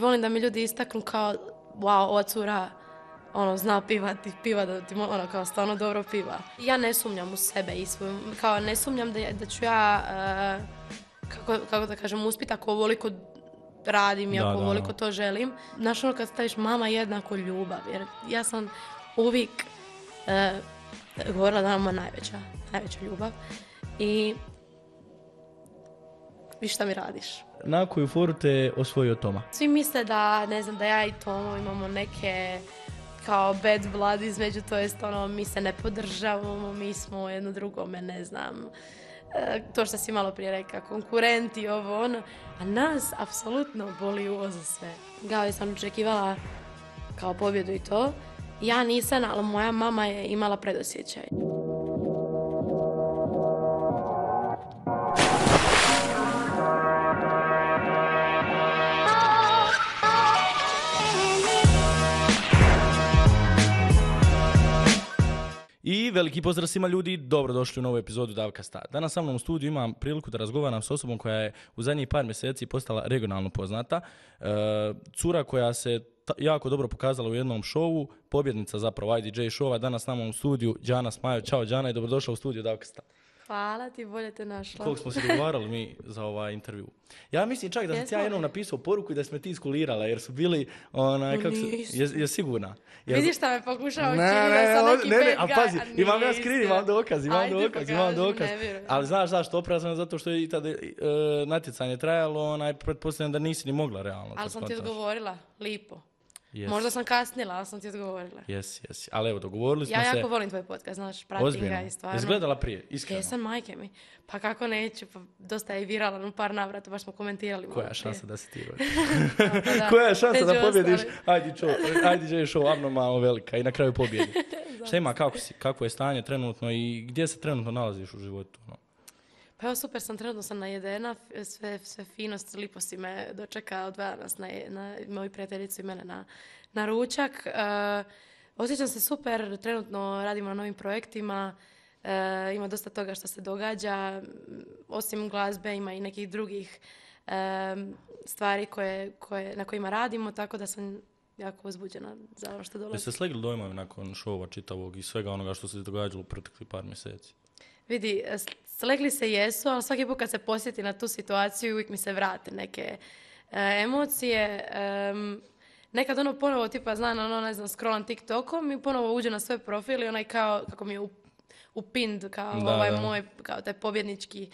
Volim da mi ljudi istaknu kao, wow, ova cura zna piva da ti kao stvarno dobro piva. Ja ne sumnjam u sebe i svoju, kao ne sumnjam da ću ja, kako da kažem, uspjeti ako ovoliko radim i ako ovoliko to želim. Znaš kad staviš mama jednako ljubav, jer ja sam uvijek govorila da nam je najveća ljubav i vi šta mi radiš. Na koju foru te osvojio Toma? Svi misle da, ne znam, da ja i Tomo imamo neke kao bad blood između, to jest mi se ne podržavamo, mi smo jedno drugome, ne znam, to što si malo prije rekao, konkurenti, a nas apsolutno boli uvo za sve. Kao sam očekivala kao pobjedu i to, ja nisam, ali moja mama je imala predosjećaj. I veliki pozdrav svima ljudi, dobrodošli u novu epizodu Davkasta. Danas sa mnom u studiju imam priliku da razgovaram s osobom koja je u zadnjih par mjeseci postala regionalno poznata. Cura koja se jako dobro pokazala u jednom šovu, pobjednica zapravo IDJ showa, danas s nama u studiju Đana Smajo. Ćao Đana i dobrodošla u studiju Davkasta. Hvala ti, bolje te našla. Koliko smo se dogovarali mi za ovaj intervju. Ja mislim čak da sam ja jednom napisao poruku i da smo ti iskulirala, jer su bili, je sigurna? Vidiš šta me pokušao učiniti da sam neki bad guy. A pazi, imam ja screen, imam dokaz. Ali znaš zašto, opravljam zato što je i tada natjecanje trajalo, pretpostavljam da nisi ni mogla realno. Ali sam ti odgovorila, lipo. Yes. Možda sam kasnila, ali sam ti odgovorila. Jesi. Ali evo, dogovorili smo se. Ja jako volim tvoj podcast, znaš, pratim ga i stvarno. Jesi gledala prije, iskreno? Jesam, majke mi. Pa kako neću, pa dosta je viralan u par navrata, baš smo komentirali. Koja je šansa da se ti rodi? Koja je šansa da pobjediš IDJ show abnormalno velika i na kraju pobjedi? Šta ima, kako je stanje trenutno i gdje se trenutno nalaziš u životu? Pa evo super sam, trenutno sam najedena, sve finost, lipo si me dočekao, odvaja nas moji prijateljicu i mene na ručak. Osjećam se super, trenutno radimo na novim projektima, ima dosta toga što se događa, osim glazbe ima i nekih drugih stvari na kojima radimo, tako da sam jako uzbuđena za ono što dolazi. Jeste slegli dojmovi nakon šova čitavog i svega onoga što se događalo u proteklih par mjeseci? Vidi, slegli se jesu, ali svaki put kad se posjeti na tu situaciju uvijek mi se vrate neke emocije. Nekad ponovo tipa scrollam TikTokom i ponovo uđe na svoj profil i onaj kao, kako mi je upind kao moj, kao taj pobjednički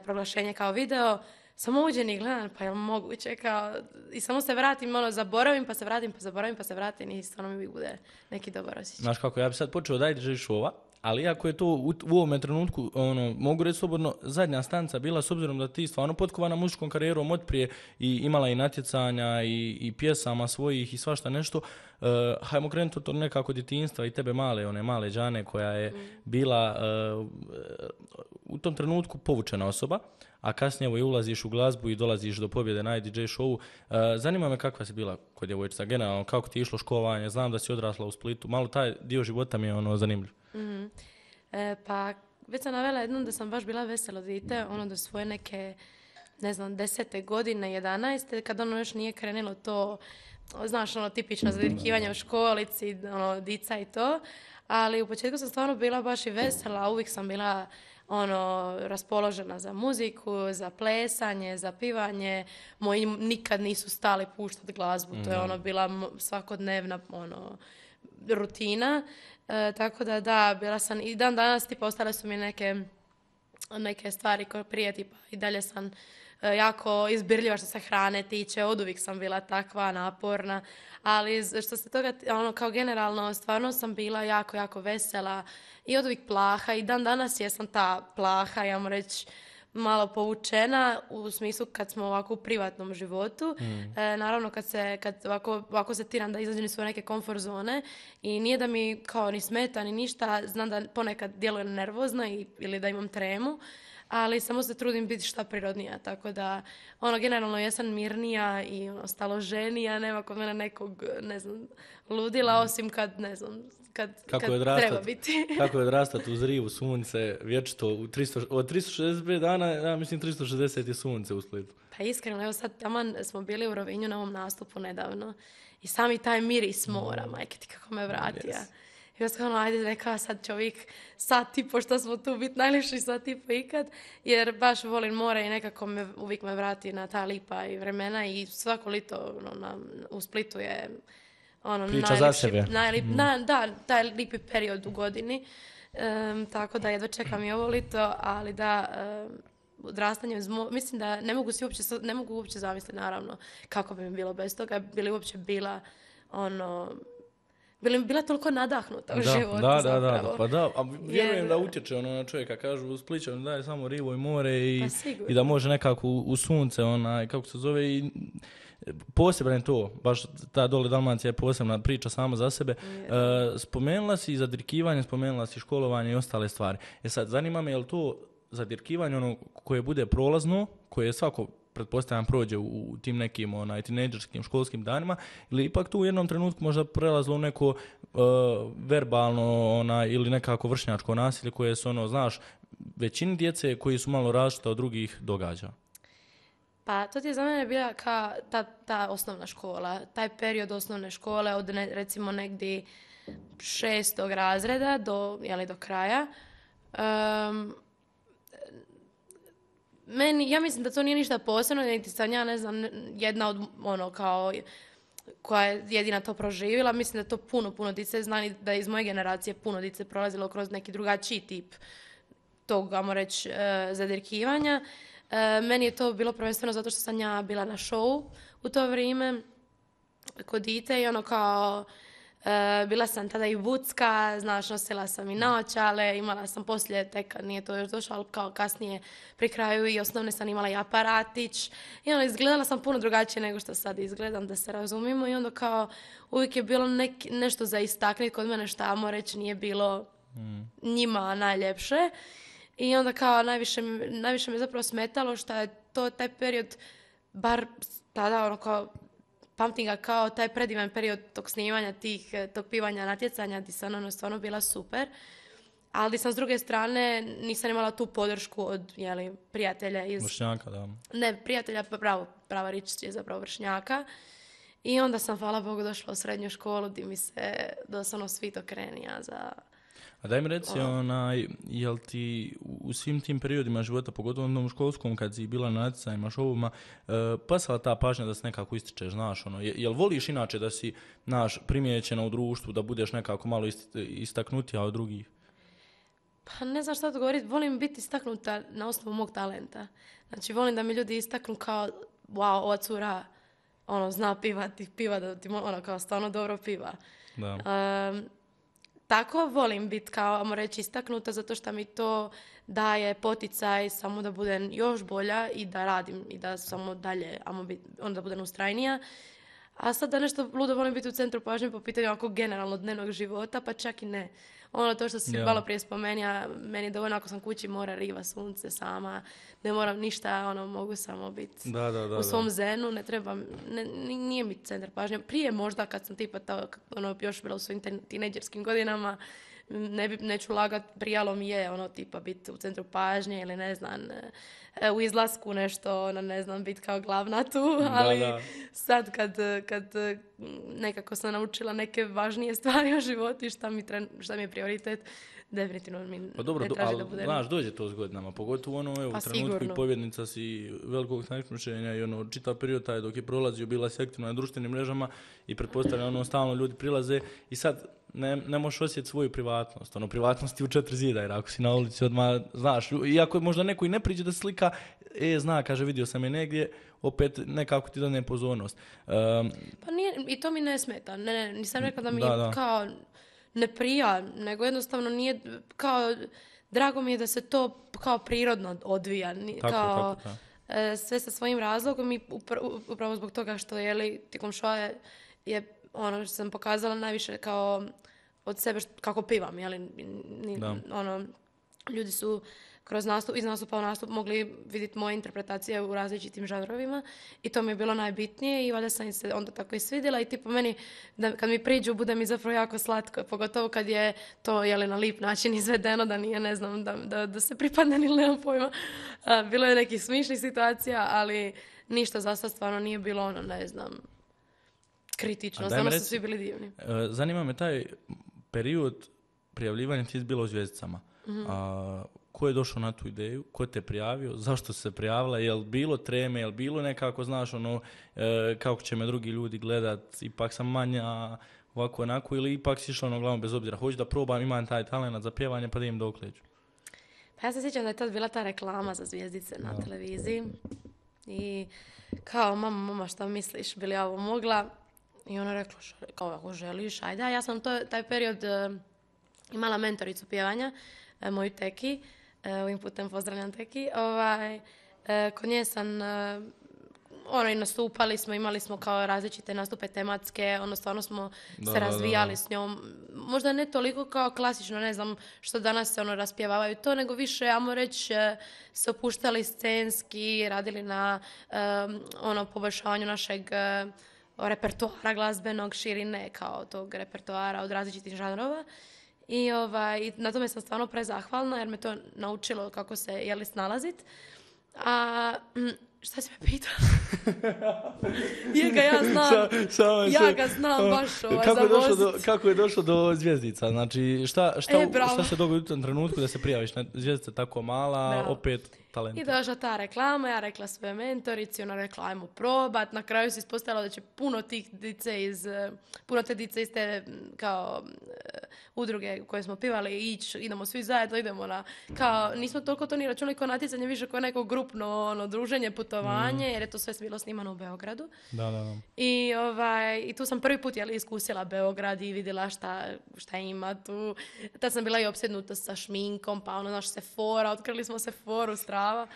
proglašenje kao video. Samo uđem i gledam, pa je li moguće, kao, i samo se vratim, zaboravim, pa se vratim, pa zaboravim, pa se vratim i stvarno mi uvijek bude neki dobar osjećaj. Znaš kako, ja bi sad počeo da IDJ showa, ali iako je to u ovome trenutku, mogu reći slobodno, zadnja stanca bila, s obzirom da ti stvarno potkovana muzičkom karijerom otprije i imala i natjecanja i pjesama svojih i svašta nešto, hajmo krenuti od to nekako djetinjstva i tebe male Đane koja je bila u tom trenutku povučena osoba, a kasnije ulaziš u glazbu i dolaziš do pobjede na IDJ showu. Zanima me kakva si bila kod djevojčica, generalno, kako ti je išlo školovanje, znam da si odrasla u Splitu, malo taj dio života mi je zanimljiv. Mm-hmm. Pa već sam navela jednom da sam baš bila veselo dite, do svoje neke, 10. godine, 11. kad još nije krenilo to, znaš, tipično zadirkivanje u školici, dica i to, ali u početku sam stvarno bila baš i vesela, uvijek sam bila raspoložena za muziku, za plesanje, za pivanje. Moji nikad nisu stali puštati glazbu, to je bila svakodnevna rutina. Tako da, bila sam i dan danas, tipa, ostale su mi neke stvari koje prije, tipa, i dalje sam jako izbirljiva što se hrane tiče, oduvijek sam bila takva, naporna, ali što se toga, kao generalno, stvarno sam bila jako, jako vesela i oduvijek plaha i dan danas jesam ta plaha, ja moram reći, malo povučena u smislu kad smo ovako u privatnom životu. Naravno kad ovako se tiram da izađem iz svoje neke komfort zone i nije da mi kao ni smeta ni ništa, znam da ponekad djelujem nervozno ili da imam tremu, ali samo se trudim biti šta prirodnija, tako da ono generalno jesam mirnija i ono, staloženija, nema kod mene nekog, ne znam, ludila, osim kad, ne znam, kad treba biti. Kako je odrastati uz rivu sunce, vječito, od 365 dana, ja mislim 360 je sunce u Splitu. Pa iskreno, evo sad taman smo bili u Rovinju na ovom nastupu nedavno i sami taj miris mora, majke ti kako me vratija. Yes. I ja sam ono, ajde rekao sad čovjek sat i po što smo tu biti najljepši sat i po ikad, jer baš volim more i nekako uvijek me vrati na ta lipa i vremena i svako lito ono, u Splitu je ono priča za sebe. Da, taj lipi period u godini, tako da jedva čekam i ovo lito, ali da... odrastanje, mislim da ne mogu uopće zamisliti naravno kako bi mi bilo bez toga, bili uopće bila bila toliko nadahnuta u životu zapravo. Pa da, a vjerujem da utječe ono na čovjeka, kažu u Splićanu da je samo rivo i more i da može nekako u sunce, kako se zove, i posebno je to, baš ta dole Dalmacija je posebna priča sama za sebe. Spomenula si zadirkivanje, spomenula si školovanje i ostale stvari. Sad, zanima me je li to zadirkivanje ono koje bude prolazno, koje svako pretpostavljam prođe u tim nekim tinejdžerskim školskim danima, ili ipak tu u jednom trenutku možda prelazilo u neko verbalno ili nekako vršnjačko nasilje koje se znaš, većini djece koji su malo različite od drugih događa. Pa to ti je za mene bila kao ta osnovna škola, taj period osnovne škole od recimo negdje 6. razreda do kraja. Ja mislim da to nije ništa posebno, niti sam ja, ne znam, jedna od koja je jedina to proživjela. Mislim da to puno dice zna, da iz moje generacije puno dice prolazilo kroz neki drugačiji tip tog, ajmo reći, zadirkivanja. Meni je to bilo prvenstveno zato što sam ja bila na showu u to vrijeme kod dite i bila sam tada i vucka, znaš, nosila sam i naočale, imala sam poslije, tek nije to još došlo, ali kao kasnije pri kraju i osnovne sam imala i aparatić. I izgledala sam puno drugačije nego što sad izgledam, da se razumimo. I onda uvijek je bilo nešto za istaknuti kod mene što, ajmo reći, nije bilo njima najljepše. I onda najviše me zapravo smetalo što je taj period, bar tada pamtim ga kao taj predivan period tog snimanja, tog pivanja natjecanja, gdje sam stvarno bila super. Ali gdje sam s druge strane nisam imala tu podršku od prijatelja iz... Vršnjaka, da. Ne, prijatelja, prava rič je zapravo vršnjaka. I onda sam, hvala Bogu, došla u srednju školu gdje mi se doslovno svit okrenija za... A daj mi reci, jel ti u svim tim periodima života, pogotovo u onom školskom, kad si bila na natjecanjima, šovima, pasala ta pažnja da se nekako ističeš, znaš, jel voliš inače da si, primijećena u društvu, da budeš nekako malo istaknutija od drugih? Pa ne znam šta to govoriti, volim biti istaknuta na osnovu mog talenta. Znači, volim da mi ljudi istaknu kao, wow, ova cura, zna piva da ti, kao stvarno dobro piva. Da. Tako volim biti kao, ajmo reći, istaknuta zato što mi to daje poticaj samo da budem još bolja i da radim i da samo dalje, onda budem ustrajnija. A sad da nešto ludo volim biti u centru pažnje po pitanju generalno dnevnog života, pa čak i ne. To što si malo prije spomenija, meni je dovoljno ako sam kući, more, riva, sunce, sama, ne moram ništa, mogu samo biti u svom zenu, ne trebam, nije mi centar pažnje. Prije možda kad sam tipa još bila u svojim tinejdžerskim godinama, neću lagat, prijalo mi je tipa biti u centru pažnje ili ne znam, u izlasku nešto, ne znam, biti kao glavna tu, ali sad kad nekako sam naučila neke važnije stvari o životu i šta mi je prioritet, definitivno mi ne traži da budem. Znaš, dođe to s godinama, pogotovo u trenutku i pobjednica si velikog takmičenja i čitav period taj dok je prolazio, bila si aktivna na društvenim mrežama i pretpostavljam stalno ljudi prilaze i sad ne možeš osjetiti svoju privatnost. Privatnost je u 4 zida, jer ako si na ulici odmah, znaš, iako možda neko i ne priđe da slika, zna, kaže, vidio sam je negdje, opet nekako ti dane pozornost. Pa nije, i to mi ne smeta. Nisam rekla da mi kao ne prija, nego jednostavno nije kao, drago mi je da se to kao prirodno odvija. Tako. Sve sa svojim razlogom i upravo zbog toga što tijekom šoa je što sam pokazala najviše kao od sebe kako pivam, ljudi su iz nastupa u nastup mogli vidjeti moje interpretacije u različitim žanrovima i to mi je bilo najbitnije i valjda sam im se onda tako i svidjela i tipo meni, kad mi priđu, bude mi zapravo jako slatko, pogotovo kad je to na lip način izvedeno, da nije, ne znam, da se pripadne ili nemam pojma. Bilo je nekih smišnih situacija, ali ništa za sad stvarno nije bilo ne znam, kritično, stvarno su svi bili divni. Zanima me taj period prijavljivanja, ti je bilo u Zvijezdicama. Ko je došao na tu ideju? Ko te prijavio? Zašto se prijavila? Je li bilo treme? Je li bilo nekako, znaš, kako će me drugi ljudi gledat? Ipak sam manja, ovako, onako, ili ipak si išla glavom bez obzira? Hoću da probam, imam taj talent za pjevanje, pa da im dokleđu. Pa ja se sjećam da je tad bila ta reklama za Zvijezdice na televiziji. I kao, mama, šta misliš? Bi li ja ovo mogla? I ona rekla, kao, ako želiš, ajde. Ja sam taj period imala mentoricu pjevanja, moju Teki, ovim putem pozdravljam Teki, kod nje sam, i nastupali smo, imali smo kao različite nastupe tematske, stvarno smo se razvijali s njom, možda ne toliko kao klasično, ne znam, što danas se raspjevavaju to, nego više, ajmo reći, se opuštali scenski, radili na poboljšavanju našeg repertoara glazbenog, širine kao tog repertoara od različitih žanrova. I na tome sam stvarno prezahvalna jer me to naučilo kako se snalazit. A šta si me pitao? Ja ga znam baš zavozit. Kako je došlo do Zvijezdica? Znači, šta se dogodi u tom trenutku da se prijaviš na Zvijezdica tako mala, opet talent? I došla ta reklama, ja rekla svoje mentorici, ona rekla ajmo probat. Na kraju se ispostavilo da će puno te dice iz te kao udruge koje smo pivali idemo svi zajedno, idemo kao, nismo toliko to ni računali kao natjecanje, više kao neko grupno druženje, putovanje, jer je to sve bilo snimano u Beogradu. Da. I tu sam prvi put iskusila Beograd i vidjela šta ima tu. Tad sam bila i opsjednuta sa šminkom, pa Sephora, otkrili smo Sephoru strava.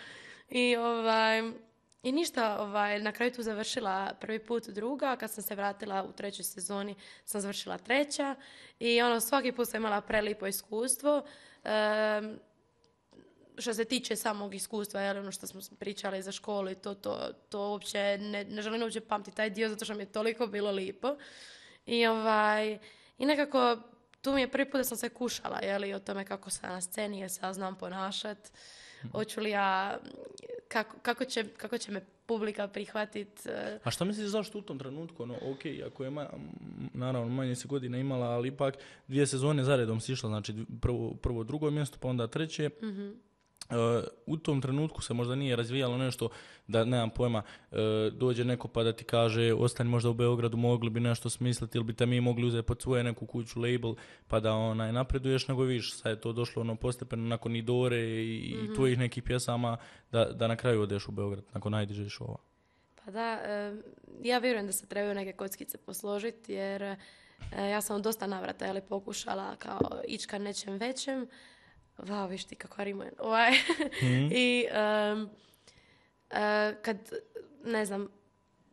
I ništa, na kraju tu završila prvi put druga, kad sam se vratila u trećoj sezoni sam završila treća i svaki put sam imala prelipo iskustvo. Što se tiče samog iskustva, što smo pričali za školu i to uopće, ne želim uopće pamtiti taj dio zato što mi je toliko bilo lipo. I nekako tu mi je prvi put da sam se kušala o tome kako sam na sceni, jer se ja znam ponašat. Hoću li ja, kako će me publika prihvatiti. A šta misliš zašto u tom trenutku? Ako je naravno manje si godina imala, ali ipak 2 sezone zaredom si išla, znači prvo drugo mjesto, pa onda treće. U tom trenutku se možda nije razvijalo nešto da, nemam pojma, dođe neko pa da ti kaže ostani možda u Beogradu, mogli bi nešto smisliti ili bi te mi mogli uzeti pod svoje neku kuću, label, pa da napreduješ, nego viš, sad je to došlo postepeno nakon Idore i tvojih nekih pjesama da na kraju odeš u Beograd nakon najdiže šova. Pa da, ja vjerujem da se trebaju neke kockice posložiti jer ja sam u dosta navrata pokušala kao ići ka nečem većem. Vau, viš ti kako rimujem. I kad, ne znam,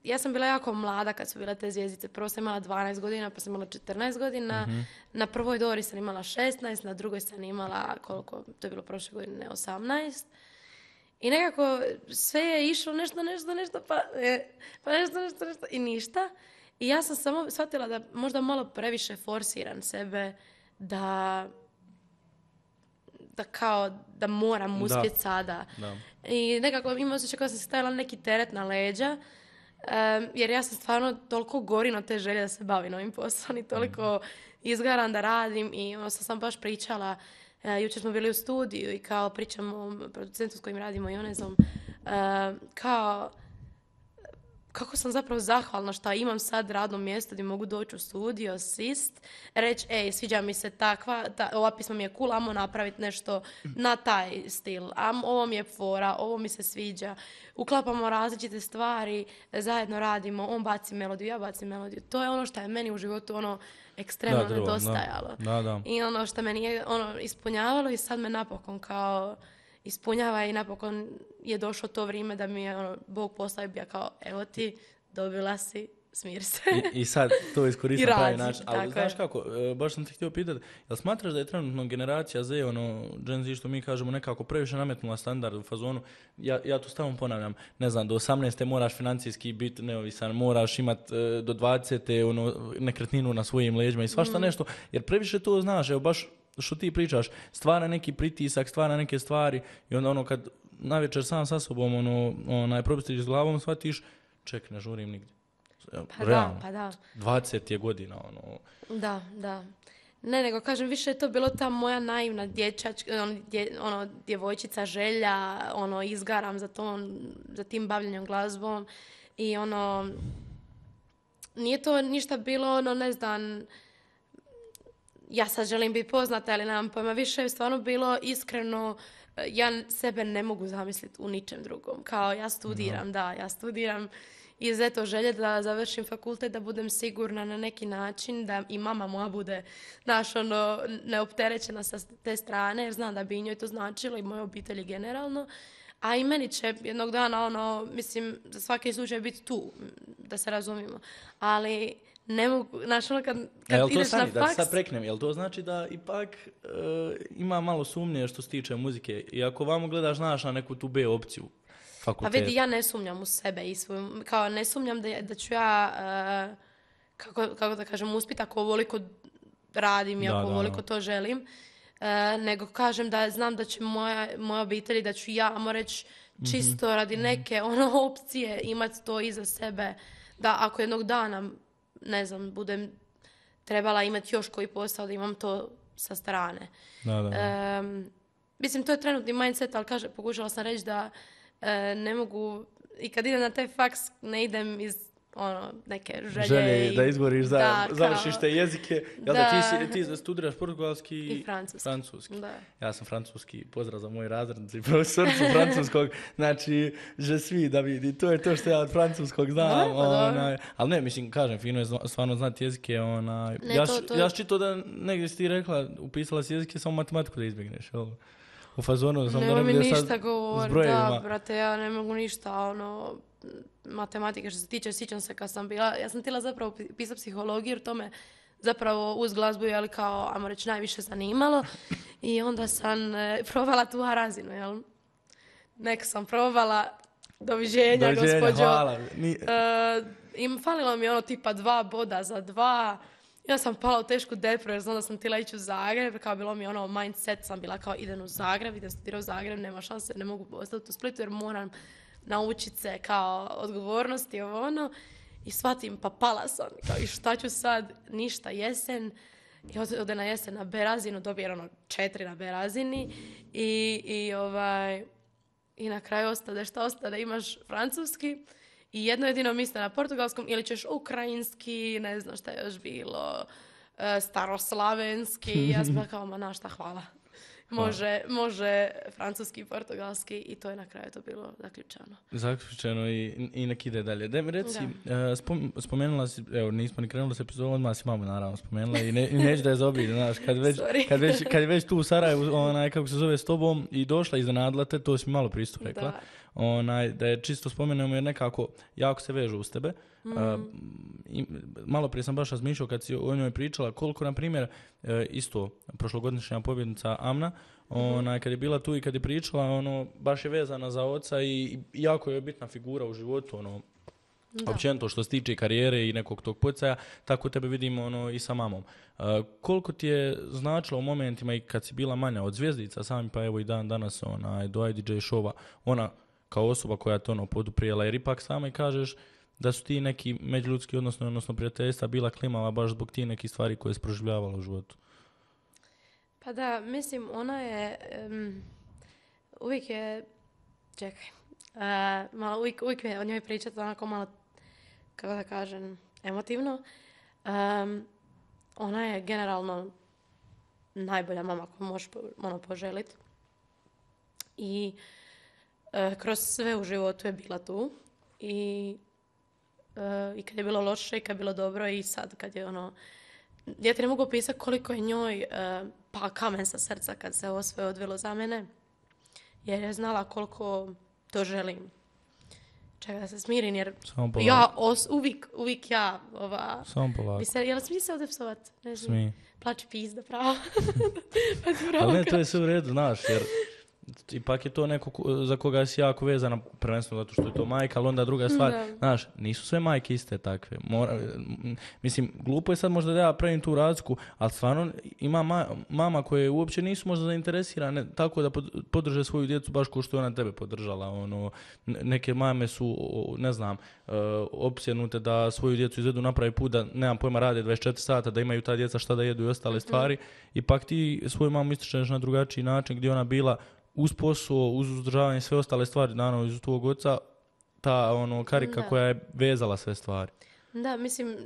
ja sam bila jako mlada kad su bile te zvjezdice. Prvo sam imala 12 godina, pa sam imala 14 godina. Na prvoj Dori sam imala 16, na drugoj sam imala, koliko, to je bilo prošle godine, 18. I nekako sve je išlo nešto, pa nešto i ništa. I ja sam samo shvatila da možda malo previše forsiram sebe da moram uspjeti sada. Da. I nekako imam osjećaj kao sam se stavila neki teret na leđa, jer ja sam stvarno toliko gorim od te želje da se bavim ovim poslom i toliko izgaram da radim i sam baš pričala, jučer smo bili u studiju i kao pričamo o producentu s kojim radimo Ionezom, kao kako sam zapravo zahvalna što imam sad radno mjesto gdje mogu doći u studio, asist, reći, sviđa mi se ova pisma mi je cool, ajmo napraviti nešto na taj stil, ovo mi je fora, ovo mi se sviđa, uklapamo različite stvari, zajedno radimo, on baci melodiju, ja bacim melodiju, to je ono što je meni u životu ekstremno nedostajalo. Da. I ono što me nije ispunjavalo i sad me napokon kao ispunjava i napokon je došlo to vrijeme da mi je Bog postavio kao evo ti, dobila si smiri se. I sad to iskoristim I na pravi radi, način. Ali tako znaš je. kako, baš sam te htio pitati, jel smatraš da je trenutno generacija Z, Gen Z što mi kažemo, nekako previše nametnula standard u fazonu, ja to stalno ponavljam, ne znam, do 18. moraš financijski biti neovisan, moraš imat do 20. Nekretninu na svojim leđima i svašta nešto, jer previše to znaš, evo baš što ti pričaš, stvara neki pritisak, stvara neke stvari i onda kad navečer sam sa sobom probistiš s glavom, shvatiš, ček, ne žurim nigdje. Pa Realno, pa da. 20 je godina, Da. Ne, nego kažem, više je to bilo ta moja naivna djevojčica želja, izgaram za tim bavljenjem glazbom i nije to ništa bilo, ne znam, ja sad želim biti poznata, ali nemam pojma, više je stvarno bilo iskreno, ja sebe ne mogu zamisliti u ničem drugom. Kao ja studiram iz eto želje da završim fakultet, da budem sigurna na neki način, da i mama moja bude, neopterećena sa te strane, jer znam da bi i njoj to značilo i mojoj obitelji generalno. A i meni će jednog dana, mislim, za svaki slučaj biti tu, da se razumijemo. Ali ne mogu, kad ideš na faks... Da sad preknem, jel to znači da ipak ima malo sumnje što se tiče muzike? I ako vamo gledaš, znaš, na neku tu B opciju fakultet. Pa vidi, ja ne sumnjam u sebe i svoju, kao ne sumnjam da ću ja, kako da kažem, uspjeti ako ovoliko radim i ako ovoliko to želim. Nego kažem da znam da će moja obitelj, da ću ja, ajmo reći, čisto radi neke opcije imati to iza sebe, da ako jednog dana, ne znam, budem trebala imati još koji posao, da imam to sa strane. Mislim, to je trenutni mindset, ali pokušala sam reći da ne mogu, i kad idem na taj faks, ne idem iz neke želje da izboriš, završiš te jezike. Ti studiraš portugalski i francuski. Da. Ja sam francuski, pozdrav za moj razred i profesorcu francuskog, znači, že svi da vidi, to je to što ja od francuskog znam. Ali ne, mislim, kažem, fino je stvarno znati jezike. Ja čito da negdje si ti rekla, upisala si jezike, samo matematiku da izbjegneš, jel? U fazonu sam da ne mi ništa govori, da, brate, ja ne mogu ništa, matematike što se tiče, sjećam se kad sam bila, ja sam htjela zapravo pisati psihologiju, jer to me zapravo uz glazbu je kao, ajmo reći, najviše zanimalo i onda sam provala tu razinu, jel? Nek sam provala, doviđenja gospođo. Hvala. Falilo mi tipa 2 boda za 2. Ja sam pala u tešku depresiju jer znam da sam htjela ići u Zagreb, kao bilo mi mindset, sam bila kao idem u Zagreb, idem studirati u Zagreb, nema šanse, ne mogu ostati u Splitu jer moram naučiti se kao odgovornosti i shvatim, pa pala sam, kao i šta ću sad, ništa, jesen, i ode na jesen na B razinu, dobijem 4 na B razini i na kraju ostade šta ostade, imaš francuski i jedno jedino mjesto na portugalskom ili ćeš ukrajinski, ne znam šta je još bilo, staroslavenski, ja sam kao, ma šta, hvala. Može francuski i portugalski i to je na kraju to bilo zaključeno i nek ide dalje. Da mi reci, spomenula si, evo nismo ni krenuli s epizodom, odmah si mamu naravno spomenula i neću da je zaobiđe, znaš, kad je već tu u Sarajevu, kako se zove, s tobom i došla iznenadila te, to si mi malo pristup rekla. Da je čisto spomenemo jer nekako jako se vežu uz tebe. Malo prije sam baš razmišljao kad si o njoj pričala koliko, na primjer, isto prošlogodišnja pobjednica Amna, kad je bila tu i kad je pričala, baš je vezana za oca i jako je bitna figura u životu, općenito što se tiče karijere i nekog tog poticaja, tako tebe vidimo i sa mamom. Koliko ti je značilo u momentima i kad si bila manja od zvijezdica sami, pa evo i dan danas do IDJ showa, ona kao osoba koja to poduprijela, jer ipak sama i kažeš da su ti neki međuljudski odnosno prijateljstva bila klimava baš zbog ti nekih stvari koje je proživljavala u životu. Pa da, mislim, ona je uvijek je, čekaj, malo uvijek je o njoj pričati onako malo, kako da kažem, emotivno. Ona je generalno najbolja mama koju možeš poželiti. I kroz sve u životu je bila tu. I kad je bilo loše i kad je bilo dobro i sad kad je ja ti ne mogu opisati koliko je njoj pa kamen sa srca kad se ovo sve odvelo za mene jer je znala koliko to želim. Čekaj da se smirim jer Samo polako. ja uvijek ja Samo polako. jel smije se ovdje psovat? Ne znam. Smije. Plači pizda, pravo. Ali ne, to je sve u redu, znaš, jer ipak je to neko za koga si jako vezana, prvenstveno zato što je to majka, ali onda druga stvar, znaš, nisu sve majke iste takve. Mislim, glupo je sad možda da ja pravim tu razliku, ali stvarno ima mama koje uopće nisu možda zainteresirane tako da podrže svoju djecu baš kao što je ona tebe podržala. Neke mame su, ne znam, opsjenute da svoju djecu izvedu napravi put, da nemam pojma rade 24 sata, da imaju ta djeca šta da jedu i ostale stvari. Ipak ti svoju mamu ističeš na drugačiji način gdje ona bila uz posao, uz uzdržavanje i sve ostale stvari, naravno iz tvojeg oca, ta karika koja je vezala sve stvari. Da, mislim,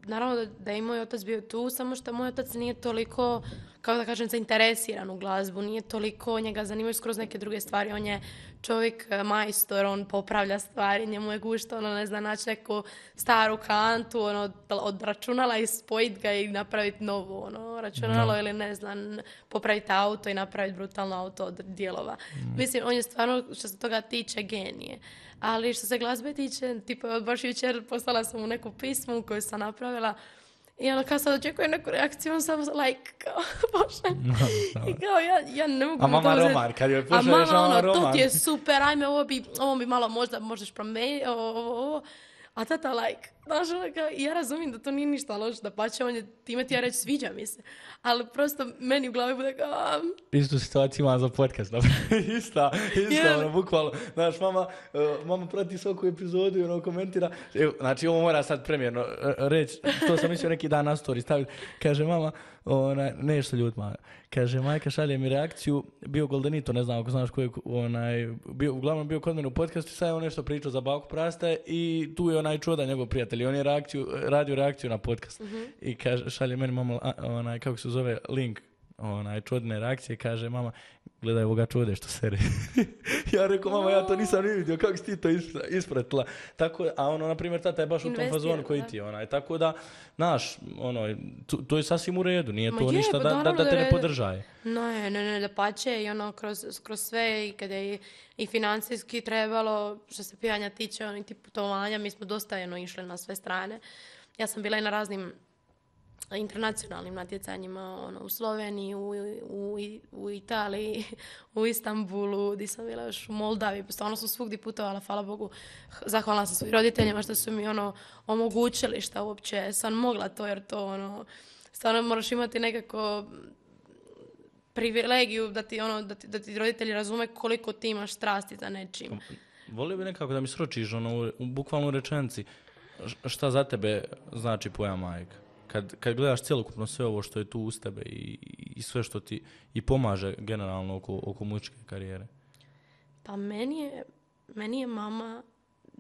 naravno da je moj otac bio tu, samo što moj otac nije toliko, kako da kažem, zainteresiran u glazbu, nije toliko, njega zanimaju skroz neke druge stvari, on je čovjek majstor, on popravlja stvari, njemu je gušto, ne zna, naći neku staru kantu, od računala i spojiti ga i napraviti novo, računalo ili ne znam, popraviti auto i napraviti brutalno auto od dijelova. Mislim, on je stvarno, što se toga tiče, genije. Ali što se glazbe tiče, tipa, baš jučer poslala sam mu neku pismu koju sam napravila i kao sad očekujem neku reakciju, on samo kao, bože. I kao, ja ne mogu... A mama Roman, kad joj pošalješ mama Roman. To ti je super, ajme, ovo bi malo možeš promijeniti, ovo. A tata znaš, ja razumijem da to nije ništa loše, da pače, on je time ti ja reći sviđa mi se. Ali prosto meni u glavi bude kao... Istu situaciju imam za podcast. Ista, bukvalno. Znaš, mama prati svaku epizodu i komentira. Evo, znači, ovo mora sad premijerno reći. To sam mislio neki dan na story staviti. Kaže mama, nešto ljut mama. Kaže, majka šalje mi reakciju, bio Goldenito, ne znam ako znaš koji je, uglavnom bio kod mene u podcastu, sad je on nešto pričao za Baku Praste i tu je onaj čuda njegov prijatelj, on je radio reakciju na podcast. I kaže, šalje meni mama, kako se zove, link, čudne reakcije, kaže mama, gledaj ovoga čude što sere. Ja rekao, mama, ja to nisam ni vidio, kako si ti to ispratila? Tako, a na primjer, tata je baš u tom fazonu koji ti je. Tako da, znaš, to je sasvim u redu, nije to ništa da te ne podržaje. Ne, da pače i kroz sve i kada je i financijski trebalo, što se pijanja tiče, ti putovanja, mi smo dosta išli na sve strane. Ja sam bila i na raznim internacionalnim natjecanjima, u Sloveniji, u Italiji, u Istanbulu, gdje sam bila još u Moldavi, stvarno sam svugdje putovala, hvala Bogu, zahvalna sam svojim roditeljima što su mi omogućili šta uopće sam mogla to, jer to stvarno moraš imati nekako privilegiju da ti roditelji razume koliko ti imaš strasti za nečim. Volio bi nekako da mi sročiš u bukvalno rečenici šta za tebe znači pojam majka. Kad gledaš cjelokupno sve ovo što je tu uz tebe i sve što ti i pomaže generalno oko muzičke karijere. Pa meni je mama,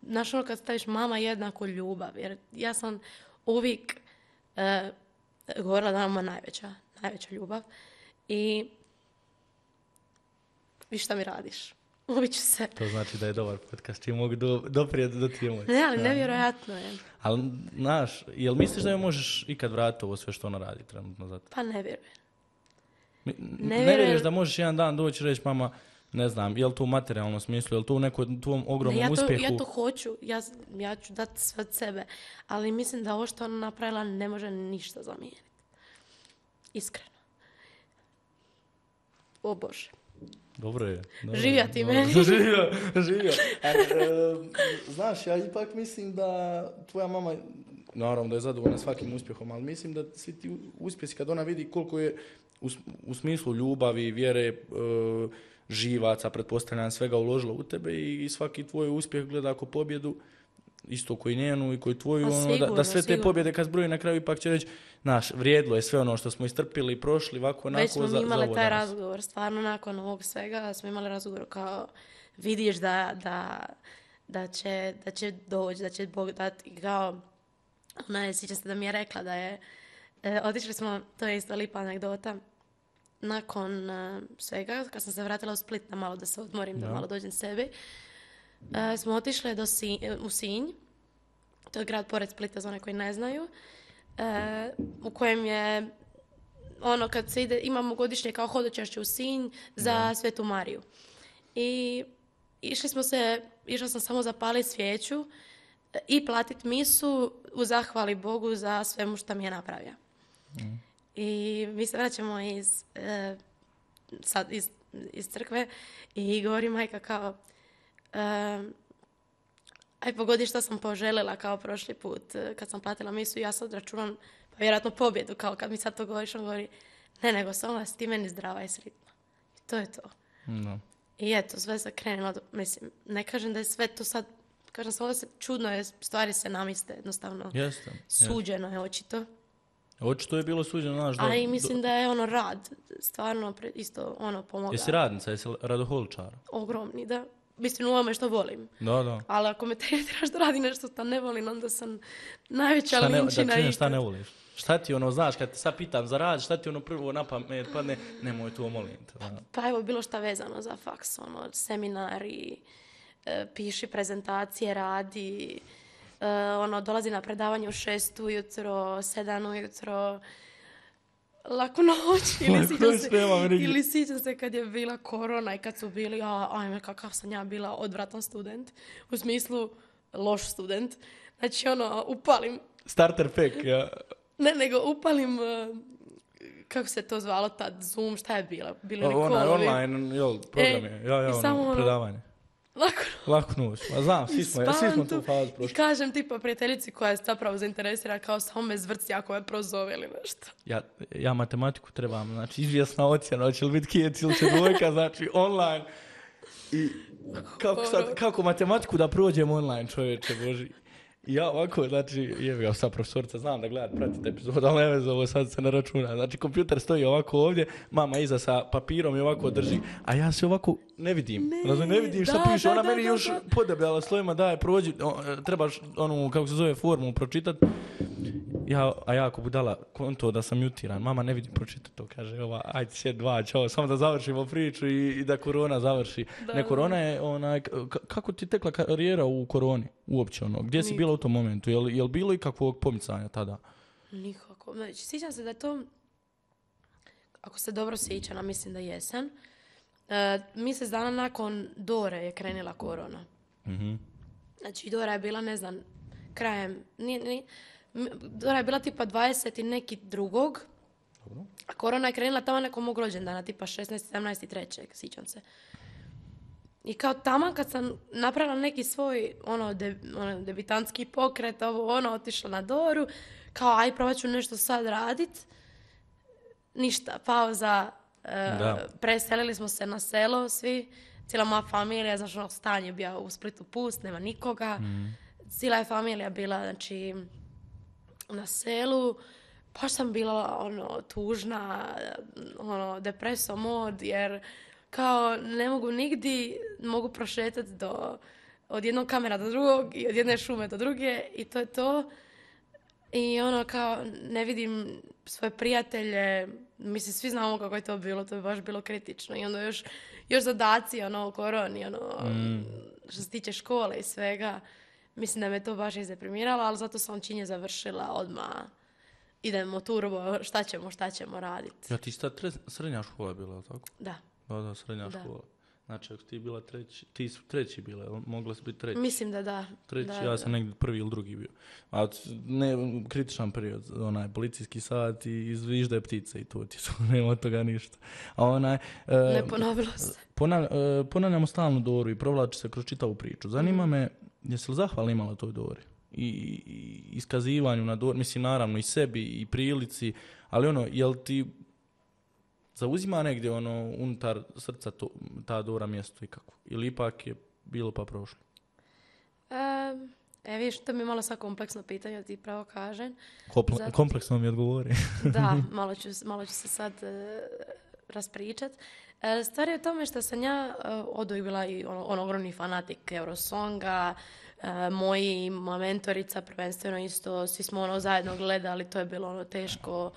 znaš kad staviš mama jednako ljubav, jer ja sam uvijek govorila da je mama najveća ljubav i vi šta mi radiš? Ubit ću se. To znači da je dobar podcast, čim mogu doprijeti do tije moći. Ne, ali nevjerojatno je. Ali, znaš, jel misliš da joj možeš ikad vratiti ovo sve što ona radi trenutno za to? Pa ne vjerujem. Ne vjeruješ da možeš jedan dan doći i reći, mama, ne znam, je li to u materijalnom smislu, je li to u nekom tvom ogromnom uspjehu? Ja to hoću, ja ću dati sve od sebe, ali mislim da ovo što ona napravila ne može ništa zamijeniti. Iskreno. O Bože. Dobro je. Živja ti meni. Živja. Znaš, ja ipak mislim da tvoja mama, naravno da je zadovoljna svakim uspjehom, ali mislim da svi ti uspjesi kad ona vidi koliko je u smislu ljubavi, vjere, živaca, pretpostavljam svega uložila u tebe i svaki tvoj uspjeh gleda ako pobjedu, isto koji njenu i koji tvoju, da sve te pobjede kad zbroji na kraju ipak će reći, znaš, vrijedilo je sve ono što smo istrpili i prošli, ovako, onako, već smo imali taj razgovor, stvarno nakon ovog svega smo imali razgovor kao vidiš da će doći, da će Bog dati, kao ona sjećam se da mi je rekla da je, otišli smo, to je isto lipa anegdota, nakon svega, kad sam se vratila u Split na malo da se odmorim, da malo dođem sebi, smo otišli u Sinj, to je grad pored Splita za one koji ne znaju, u kojem je kad se ide, imamo godišnje kao hodočašće u Sinj za Svetu Mariju. I išla sam samo zapaliti svijeću i platiti misu u zahvali Bogu za svemu što mi je napravio. I mi se vraćamo iz crkve i govori majka kao aj pogodi što sam poželjela kao prošli put kad sam platila misu i ja sad računam pa vjerojatno pobjedu kao kad mi sad to govoriš, on govori ne, nego samo da si ti meni zdrava i sretna. I to je to. No. I eto, sve se krenilo, mislim, ne kažem da je sve to sad, kažem samo da se čudno je, stvari se namiste jednostavno. Jeste. Suđeno je očito. Očito je bilo suđeno, znaš. A i mislim da je rad, stvarno isto pomogao. Jesi radnica, jesi radoholičara? Ogromni, da. Mislim, u ovome što volim. Da. Ali ako me tretiraš da radi nešto što ne volim, onda sam najveća linčina ikad. Šta ne voliš? Šta ti znaš, kad te sad pitam za rad, šta ti prvo na pamet padne, nemoj to, molim te. Pa evo, bilo šta vezano za faks, seminari, piši prezentacije, radi, dolazi na predavanje u 6 ujutro, 7 ujutro, laku noć, ili sjećam se kad je bila korona i kad su bili, ajme kakav sam ja bila odvratan student, u smislu loš student, znači upalim. Starter pack, ja. Ne, nego upalim, kako se to zvalo tad, Zoom, šta je bilo? Bilo li kolovi? Online, program je, predavanje. Laku noć. Ma znam, svi smo tu fazu prošli. I kažem tipa prijateljici koja je zapravo zainteresirana kao samo me zvrci ako me prozove ili nešto. Ja matematiku trebam, znači izvjesna ocjena, hoće li biti kijec ili će dvojka, znači online. I kako matematiku da prođem online, čovječe Boži. I ja ovako, znači, ja sad profesorica, znam da gledat, pratite epizod, ali ne veze, ovo sad se ne računa. Znači, kompjuter stoji ovako ovdje, mama iza sa papirom i ovako drži, a ja se ovako ne vidim. Ne vidim šta piše, ona meni još podebljala slovima, daj, prođi, trebaš kako se zove, formulu pročitat. A ja ako budala konto da sam mutiran, mama ne vidim pročitati to, kaže, ajde sjed 2, čao, samo da završimo priču i da korona završi. Korona je, kako ti tekla karijera u koroni, uopće gdje si bila u tom momentu, je li bilo ikakvog pomicanja tada? Nikako, znači, sjećam se da je to, ako se dobro sjećam, a mislim da jesam, mjesec dana nakon Dore je krenila korona. Mhm. Znači, Dora je bila, ne znam, krajem, Dora je bila tipa 20 i neki drugog, a korona je krenula tamo nekom mog rođendana, tipa 16, 17 i 3. Sjećam se. I kao tamo kad sam napravila neki svoj debitantski pokret, otišla na Doru, kao aj probat ću nešto sad radit, ništa, pauza, preselili smo se na selo svi, cijela moja familija, znači stan je bio u Splitu pust, nema nikoga, cijela je familija bila, znači, na selu, baš sam bila tužna, depreso mod, jer kao ne mogu nigdje, mogu prošetati od jednog kamera do drugog i od jedne šume do druge i to je to. I kao ne vidim svoje prijatelje, mislim svi znamo kako je to bilo, to je baš bilo kritično i onda još zadaci u koroni, što se tiče škole i svega. Mislim da me to baš izdeprimiralo, ali zato sam činje završila odmah. Idemo turbo, šta ćemo raditi. Ja, ti sta srednja škola bila, tako? Da. Da, srednja škola. Znači, ako ti bila ti su treći bile, mogla si biti treći. Mislim da da. Treći, ja sam negdje prvi ili drugi bio. A ne, kritičan period, policijski sat i zviždaje ptice i to ti su, nema od toga ništa. A ne ponovilo se. Ponavljamo stalnu Doru i provlači se kroz čitavu priču. Zanima me, jesi li zahvala imala toj Dori? I iskazivanju na Dori, mislim naravno i sebi i prilici, ali jel ti zauzima negdje unutar srca ta Dora mjesto i kako? Ili ipak je bilo pa prošlo? Vidiš, to mi je malo sad kompleksno pitanje, ti pravo kažem. Kompleksno mi odgovori. Da, malo ću se sad raspričat. Stvar je u tome što sam ja oduvijek bila i ogromni fanatik Eurosonga, moja mentorica prvenstveno isto, svi smo zajedno gledali, to je bilo teško,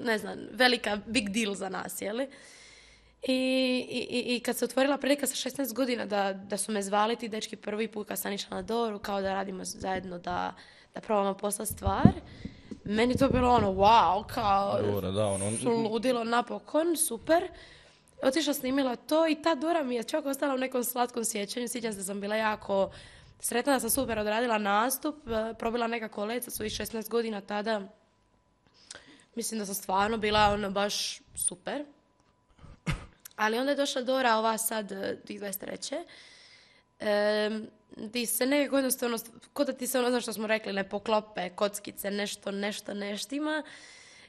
ne znam, velika big deal za nas, jeli? I kad se otvorila prilika sa 16 godina da su me zvali ti dečki prvi put kad sam išla na Doru, kao da radimo zajedno da probamo poslati stvar, meni to bilo wow, kao Dora, da, ludilo napokon, super. otišla snimila to i ta Dora mi je čak ostala u nekom slatkom sjećanju. Sjećam se da sam bila jako sretna da sam super odradila nastup, probila nekako let sa svojih 16 godina tada. Mislim da sam stvarno bila ono baš super. Ali onda je došla Dora, ova sad, 2023. Ti se nekako jednostavno, kod da ti se ono, znaš što smo rekli, ne poklope, kockice, nešto ima.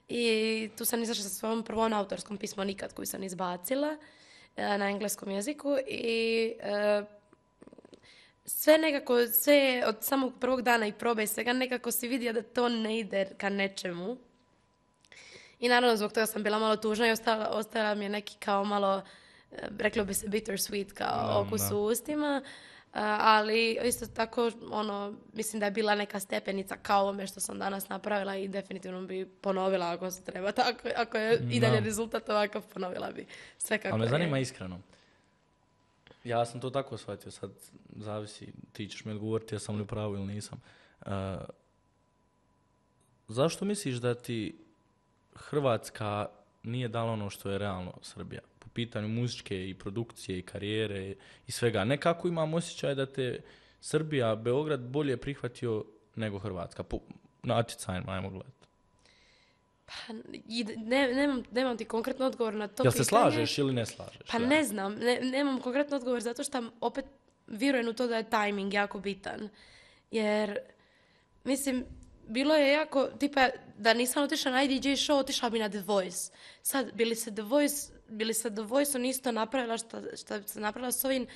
I tu sam izašla sa svojom prvom autorskom pismom nikad koju sam izbacila na engleskom jeziku i sve nekako, sve od samog prvog dana i probe svega nekako si vidio da to ne ide ka nečemu. I naravno zbog toga sam bila malo tužna i ostala mi je neki kao malo, reklo bi se bittersweet, kao okus u ustima. Ali isto tako, mislim da je bila neka stepenica kao ovome što sam danas napravila i definitivno bi ponovila ako se treba. Tako, ako je i dalje rezultat ovakav, ponovila bi sve kako je. Ali me zanima iskreno. Ja sam to tako shvatio, sad zavisi, ti ćeš mi odgovoriti ja sam li u pravu ili nisam. Zašto misliš da ti Hrvatska nije dala ono što je realno Srbija? Po pitanju muzičke i produkcije i karijere i svega. Nekako imam osjećaj da te Srbija, Beograd bolje prihvatio nego Hrvatska. Po natjecanjima, ajmo gledati. Pa, nemam ti konkretno odgovor na to Jel pitanje. se slažeš ili ne slažeš? Pa ne znam, nemam konkretno odgovor zato što opet vjerujem u to da je timing jako bitan. Jer, mislim, bilo je jako, tipa, da nisam otišla na IDJ show, otišla bi na The Voice. Sad, bili se The Voice-om isto napravila što se napravila s ovim,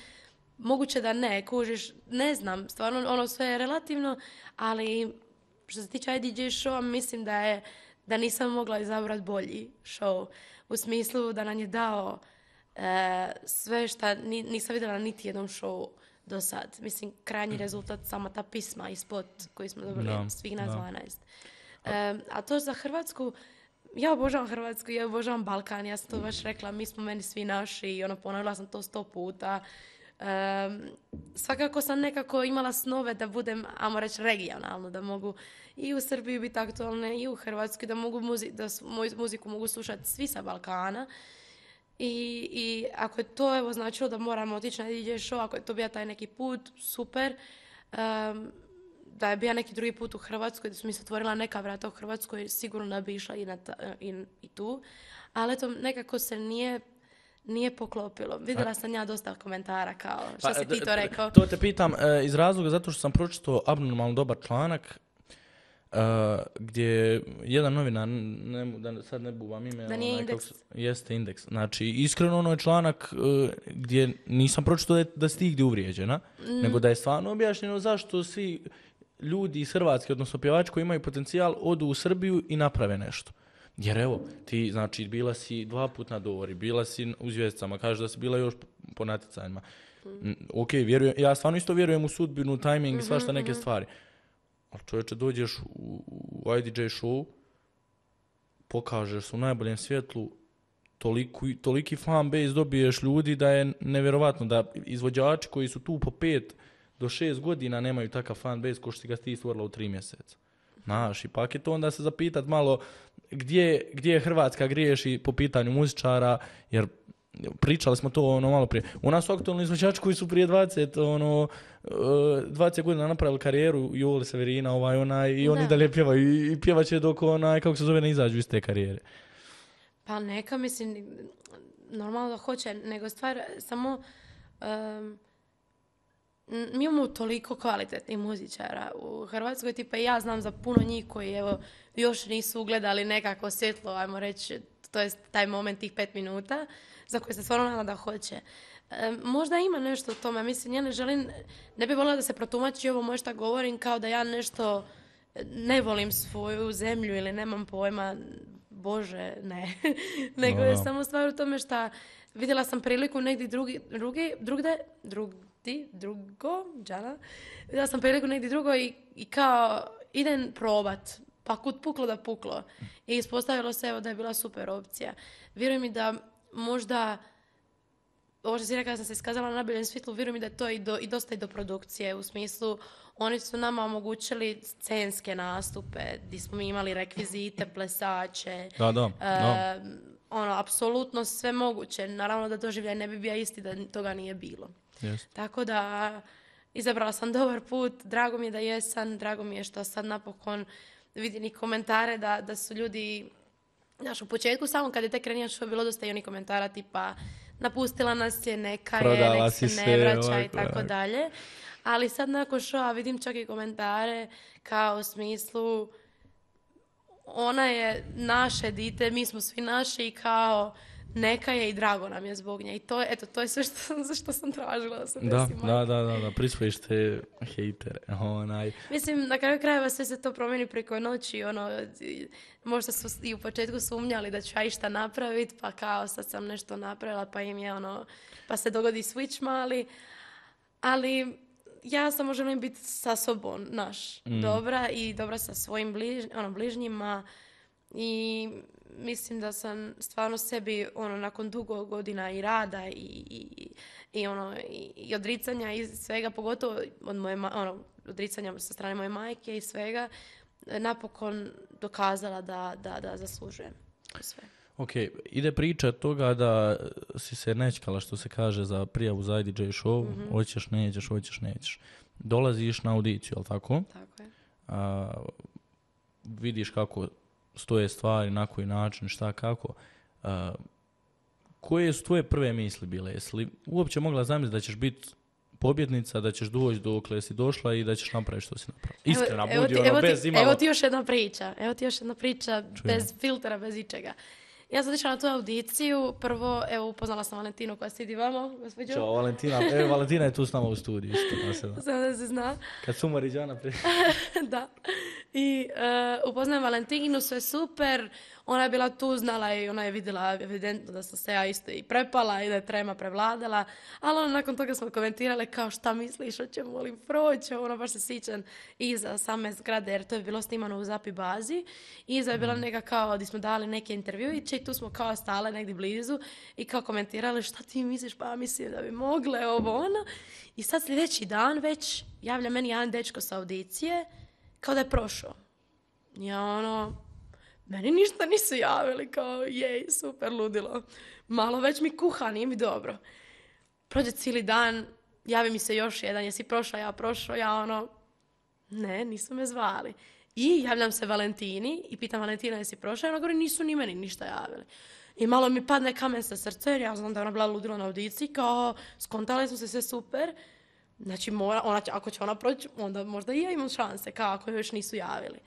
moguće da ne, kužiš, ne znam, stvarno sve je relativno, ali što se tiče IDJ showa, mislim da nisam mogla izabrati bolji show, u smislu da nam je dao sve što nisam vidjela niti jednom showu do sad. Mislim, krajnji rezultat, sama ta pisma i spot koji smo dobili svih nas 12. A to za Hrvatsku, ja obožavam Hrvatsku, ja obožavam Balkan, ja sam to baš rekla, mi smo meni svi naši i ponovila sam to 100 puta. Svakako sam nekako imala snove da budem, ajmo reći, regionalno, da mogu i u Srbiji biti aktualne i u Hrvatskoj, da mogu moju muziku mogu slušati svi sa Balkana. I ako je to značilo da moramo otići na DJ show, ako je to bio taj neki put, super. Da je bio neki drugi put u Hrvatskoj, da su mi se otvorila neka vrata u Hrvatskoj, sigurno da bi išla i tu. Ali eto, nekako se nije poklopilo. Vidjela sam ja dosta komentara kao što si ti to rekao. To te pitam iz razloga zato što sam pročitao abnormalno dobar članak gdje jedan novinar, da sad ne buvam ime, da nije Indeks. Jeste Indeks. Znači, iskreno je članak gdje nisam pročitao da si ti gdje uvrijeđena, nego da je stvarno objašnjeno zašto svi ljudi iz Hrvatske, odnosno pjevači koji imaju potencijal, odu u Srbiju i naprave nešto. Jer evo, ti, znači, bila si 2 puta na Dori, bila si u Zvijezdicama, kažeš da si bila još po natjecanjima. Ok, ja stvarno isto vjerujem u sudbinu, tajming i svašta neke stvari. Ali čovječe, dođeš u IDJ show, pokažeš se u najboljem svjetlu, toliki fan base dobiješ ljudi da je nevjerovatno da izvođači koji su tu po 5 do 6 godina nemaju takav fan base ko što si ga ti stvorila u 3 mjeseca. Znaš, ipak je to onda se zapitat malo gdje Hrvatska griješi po pitanju muzičara, jer pričali smo to malo prije. U nas su aktualni izvođači koji su prije 20 godina napravili karijeru, Joli Severina, i oni dalje pjevaju i pjevat će dok kako se zove, ne izađu iz te karijere. Pa neka, mislim, normalno da hoće, nego stvar samo mi imamo toliko kvalitetnih muzičara u Hrvatskoj, tipa ja znam za puno njih koji još nisu ugledali nekako svjetlo, ajmo reći, to je taj moment, tih 5 minuta, za koje se stvarno nadam da hoće. Možda ima nešto u tome, mislim, ja ne bih voljela da se protumači ovo moje šta govorim kao da ja nešto ne volim svoju zemlju ili nemam pojma, Bože, ne. Nego je samo stvar u tome šta vidjela sam priliku negdje vidjela sam priliku negdje drugo i kao idem probat, pa kud puklo da puklo. I ispostavilo se da je bila super opcija. Vjerujem mi da možda, ovo što si rekla da sam se iskazala na najboljem svjetlu, vjerujem mi da je to i dosta do produkcije, u smislu oni su nama omogućili scenske nastupe, gdje smo mi imali rekvizite, plesače. ono, apsolutno sve moguće. Naravno da doživljaj ne bi bio isti da toga nije bilo. Jest. Tako da izabrala sam dobar put, drago mi je da jesam, drago mi je što sad napokon vidim i komentare da su ljudi, znaš, u početku samo kad je tek krenio što je bilo dosta i oni komentara tipa napustila nas je, neka je, Prodala nek si se se, ne vraća i ovako, tako ovako. dalje. Ali sad nakon šova vidim čak i komentare kao u smislu ona je naše dite, mi smo svi naši i kao neka je i drago nam je zbog nje. I to je, eto, to je sve što sam tražila da se desi. Da, prisvojiš te hejtere. Mislim, na kraju krajeva sve se to promijeni preko noći, možda su i u početku sumnjali da ću ja išta napraviti, pa kao sad sam nešto napravila, pa im je pa se dogodi switch mali, ali ja samo želim biti sa sobom, dobra i dobra sa svojim bližnjima i mislim da sam stvarno sebi nakon dugo godina i rada i odricanja i svega, pogotovo od moje odricanja sa strane moje majke i svega, napokon dokazala da zaslužujem sve. Ok, ide priča od toga da si se nečkala, što se kaže, za prijavu za IDJ show, hoćeš, nećeš. Dolaziš na audiciju, jel tako? Tako je. Vidiš kako stoje stvari, na koji način, šta, kako. Koje su tvoje prve misli bile? Jesi li uopće mogla zamisliti da ćeš biti pobjednica, da ćeš doći dokle si došla i da ćeš napraviti što si napravila? Iskrena, budi bez imalo... Evo ti još jedna priča bez filtera, bez ičega. Ja sam išla na tu audiciju, prvo, upoznala sam Valentinu koja sidi vamo, gospođo. Ćao, Valentina. Valentina je tu s nama u studiju, isto. Samo da se zna. Kad su Mariđana prije. Da. I upoznajem Valentinu, sve super. Ona je bila tu, znala i ona je vidjela evidentno da sam se ja isto i prepala i da je trema prevladala. Ali nakon toga smo komentirale kao šta misliš, hoćemo li proći. Baš se sjećam iza same zgrade jer to je bilo snimano u Zapi bazi. I iza je bila neka kao gdje smo dali neke intervjuiće i tu smo kao stale negdje blizu i kao komentirali šta ti misliš, pa mislim da bi mogle I sad sljedeći dan već javlja meni jedan dečko sa audicije kao da je prošao. Ja meni ništa nisu javili, kao jej, super, ludilo. Malo već mi kuha, nije mi dobro. Prođe cijeli dan, javi mi se još jedan, jesi prošao, ja ne, nisu me zvali. I javljam se Valentini i pitam Valentina jesi prošao, ona govori nisu ni meni ništa javili. I malo mi padne kamen sa srca jer ja znam da je ona bila ludila na audiciji, kao skontali smo se sve super. Znači, ako će ona proći, onda možda i ja imam šanse, kao ako još nisu javili.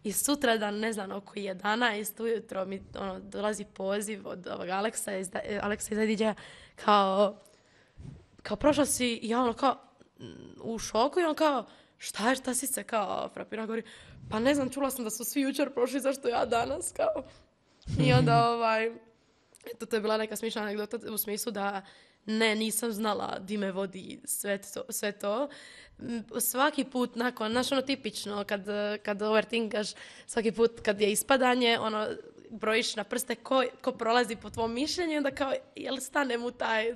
I sutradan, ne znam, oko 11 ujutro mi dolazi poziv od ovog Aleksa iz IDJ-a, kao prošla si, i ja kao u šoku i on kao, šta si se kao frapirao, govori, pa ne znam, čula sam da su svi jučer prošli, zašto ja danas, kao. I onda, eto, to je bila neka smišna anegdota u smislu da nisam znala di me vodi sve to. Svaki put nakon, tipično, kad overthinkaš, svaki put kad je ispadanje, brojiš na prste ko prolazi po tvom mišljenju, onda kao, jel stanem u taj,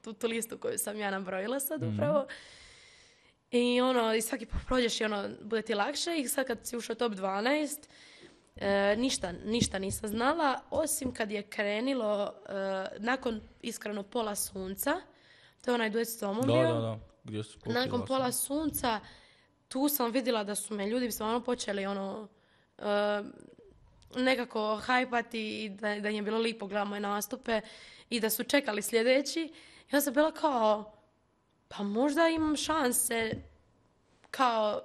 u tu listu koju sam ja nabrojila sad upravo. I i svaki put prođeš i bude ti lakše i sad kad si ušao top 12, ništa nisam znala, osim kad je krenilo nakon iskreno Pola sunca, to je onaj duet s Tomom bio. Da. Gdje su nakon Pola sunca, tu sam vidjela da su me ljudi stvarno počeli nekako hajpati i da im je bilo lipo gledati moje nastupe i da su čekali sljedeći. Ja sam bila kao, pa možda imam šanse, kao,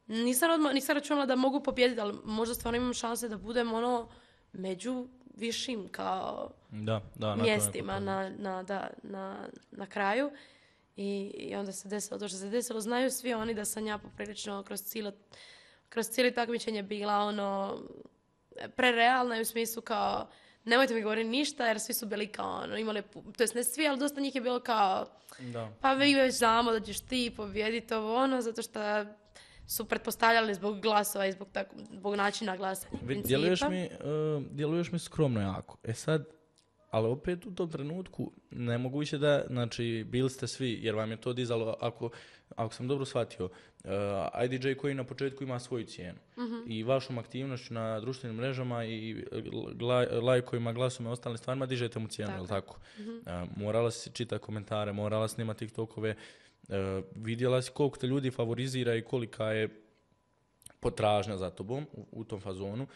nisam računala da mogu pobijediti, ali možda stvarno imam šanse da budem među višim kao mjestima na kraju. I onda se desilo to što se desilo. Znaju svi oni da sam ja poprilično kroz cijeli takmičenje bila prerealna u smislu kao nemojte mi govoriti ništa jer svi su bili kao imali, to jest ne svi, ali dosta njih je bilo kao pa vi već znamo da ćeš ti pobijediti zato što su pretpostavljali zbog glasova i zbog načina glasanja. Djeluješ mi skromno jako. Sad, ali opet u tom trenutku nemoguće da, znači, bili ste svi, jer vam je to dizalo, ako sam dobro shvatio, IDJ koji na početku ima svoju cijenu i vašom aktivnošću na društvenim mrežama i lajkovima, glasovima i ostalim stvarima dižete mu cijenu, jel tako? Morala si čitati komentare, morala snimati TikTokove, vidjela si koliko te ljudi favorizira i kolika je potražnja za tobom u tom fazonu.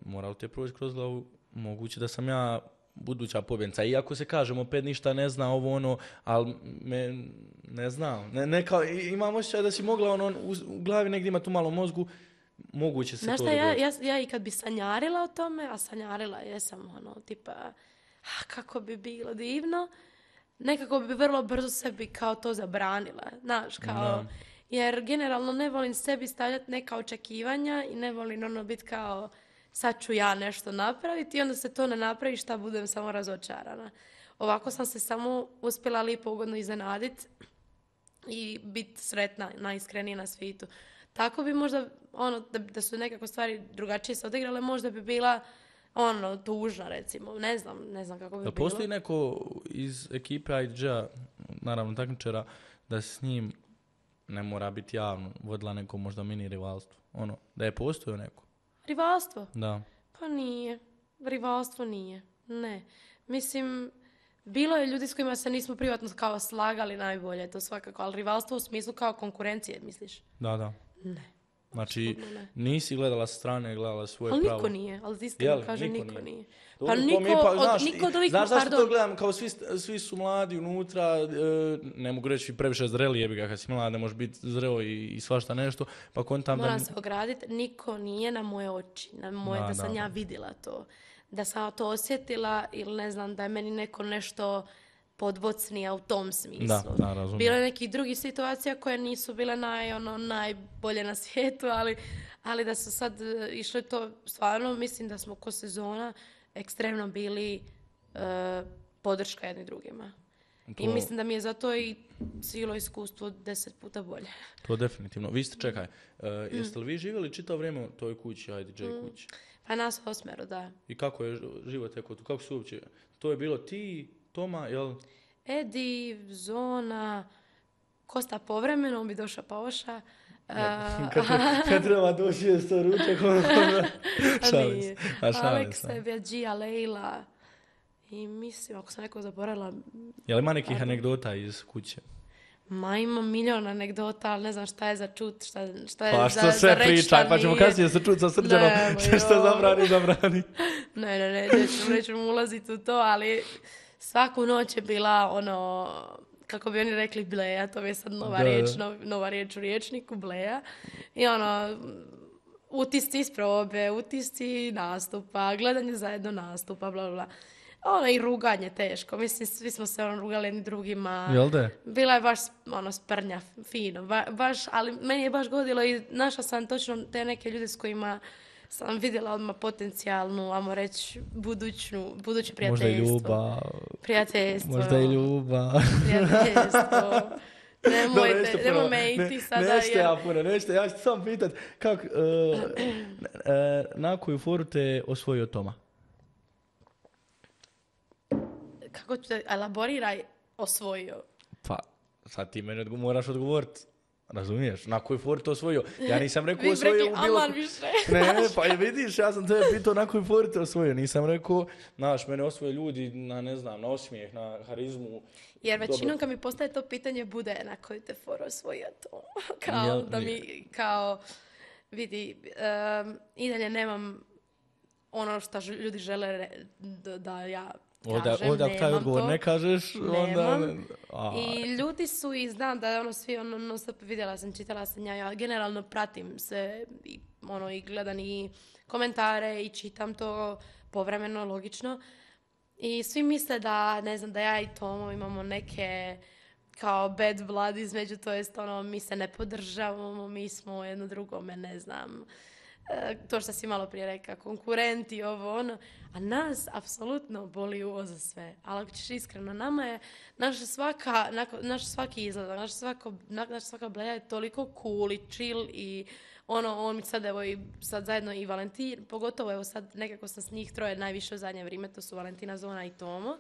Moralo ti je proći kroz glavu, moguće da sam ja buduća pobjednica. Iako se kažem, opet ništa ne zna ovo ono, ali ne znam. Imam osjećaj da si mogla u glavi negdje imati u malom mozgu, moguće se znaš to dogoditi. Ja i kad bi sanjarila o tome, a sanjarila jesam tipa, kako bi bilo divno, nekako bi vrlo brzo sebi kao to zabranila. Znaš, kao... Jer generalno ne volim sebi stavljati neka očekivanja i ne volim biti kao sad ću ja nešto napraviti i onda se to ne napravi šta budem samo razočarana. Ovako sam se samo uspjela lijepo ugodno iznenaditi i biti sretna, najiskrenija na svijetu. Tako bi možda, da su nekako stvari drugačije se odigrale, možda bi bila tužna recimo. Ne znam kako bi bilo. Postoji neko iz ekipe IDJ-a, naravno takmičara, da s njim ne mora biti javno, vodila neko možda mini rivalstvo. Da je postojao neko. Rivalstvo? Da. Pa nije. Rivalstvo nije. Ne. Mislim, bilo je ljudi s kojima se nismo privatno kao slagali najbolje, to svakako, ali rivalstvo u smislu kao konkurencije, misliš? Da. Ne. Znači, nisi gledala sa strane, gledala svoje pravo. Ali niko nije, ali iskreno kaže niko nije. Pa niko od ovih, znaš zašto to gledam, kao svi su mladi unutra, ne mogu reći previše zreli, jebi ga, kad si mlad, ne možeš biti zreo i svašta nešto, pa kontam moram se ograditi, niko nije na moje oči, da sam ja vidjela to, da sam to osjetila ili ne znam, da je meni neko nešto podbocnija u tom smislu. Da, razumijem. Bilo je nekih drugih situacija koje nisu bile najbolje na svijetu, ali da su sad išli to, stvarno mislim da smo ko sezona ekstremno bili podrška jedni drugima. I mislim da mi je zato i cijelo iskustvo 10 puta bolje. To definitivno. Vi ste, čekaj, jeste li vi živjeli čitavo vrijeme u toj kući, IDJ kući? Pa nas 8, da. I kako je život tekao tu? Kako su uopće? To je bilo ti, Toma, jel? Edi, Zona, Kosta povremeno, on bi došao pa oša. Kad treba doći je sto ručak, šalim. Aleksa, Bjađija, Lejla. I mislim, ako sam neko zaboravila... Je li ima nekih anegdota iz kuće? Ma ima milion anegdota, ali ne znam šta je za čut, šta je pa, za reći. Sve pričaj, pa ćemo kasnije se čut sa Srđanom, što zabrani. Ne, nećemo ulaziti u to, ali svaku noć je bila kako bi oni rekli bleja, to je sad nova riječ u riječniku, bleja. I utisci iz probe, utisci nastupa, gledanje zajedno nastupa, bla, bla. I ruganje teško. Mislim, svi smo se rugali jedni drugima. Jel da? Bila je baš sprnja, fino. Baš, ali meni je baš godilo i našla sam točno te neke ljude s kojima sam vidjela odmah potencijalnu, ajmo reći, buduće prijateljstvo. Možda i ljubav. Prijateljstvo. Možda i ljubav. Prijateljstvo. Nemoj me iti sada. Nećete, ja ću samo pitat kako, na koju foru te osvojio Toma? Kako ću te elaboriraj osvojio? Pa, sad ti meni moraš odgovoriti. Razumiješ? Na koju foru to osvojio? Ja nisam rekao osvojio u bilo... Ne, pa vidiš, ja sam tebe pitao na koju foru te osvojio. Nisam rekao, mene osvoje ljudi na osmijeh, na harizmu. Jer većinom kad mi postaje to pitanje bude na koju te foru osvojio to. Vidi, i dalje nemam ono što ljudi žele da ja kažem, ovdje taj odgovor ne kažeš, onda... I ljudi su i znam da svi vidjela sam, čitala sam, ja generalno pratim se i gledam i komentare i čitam to povremeno, logično. I svi misle da, ne znam, da ja i Tomo imamo neke kao bad blood između, to jest mi se ne podržavamo, mi smo jedno drugome, ne znam... to što si malo prije rekao, konkurenti, a nas apsolutno boli uvo za sve. Ali ako ćeš iskreno, nama je naš svaki izgled, naša svaka bleja je toliko cool i chill i On mi sad, evo, i sad zajedno i Valentin, pogotovo, evo, sad nekako sam s njih troje najviše u zadnje vrijeme, to su Valentina, Zona i Tomo.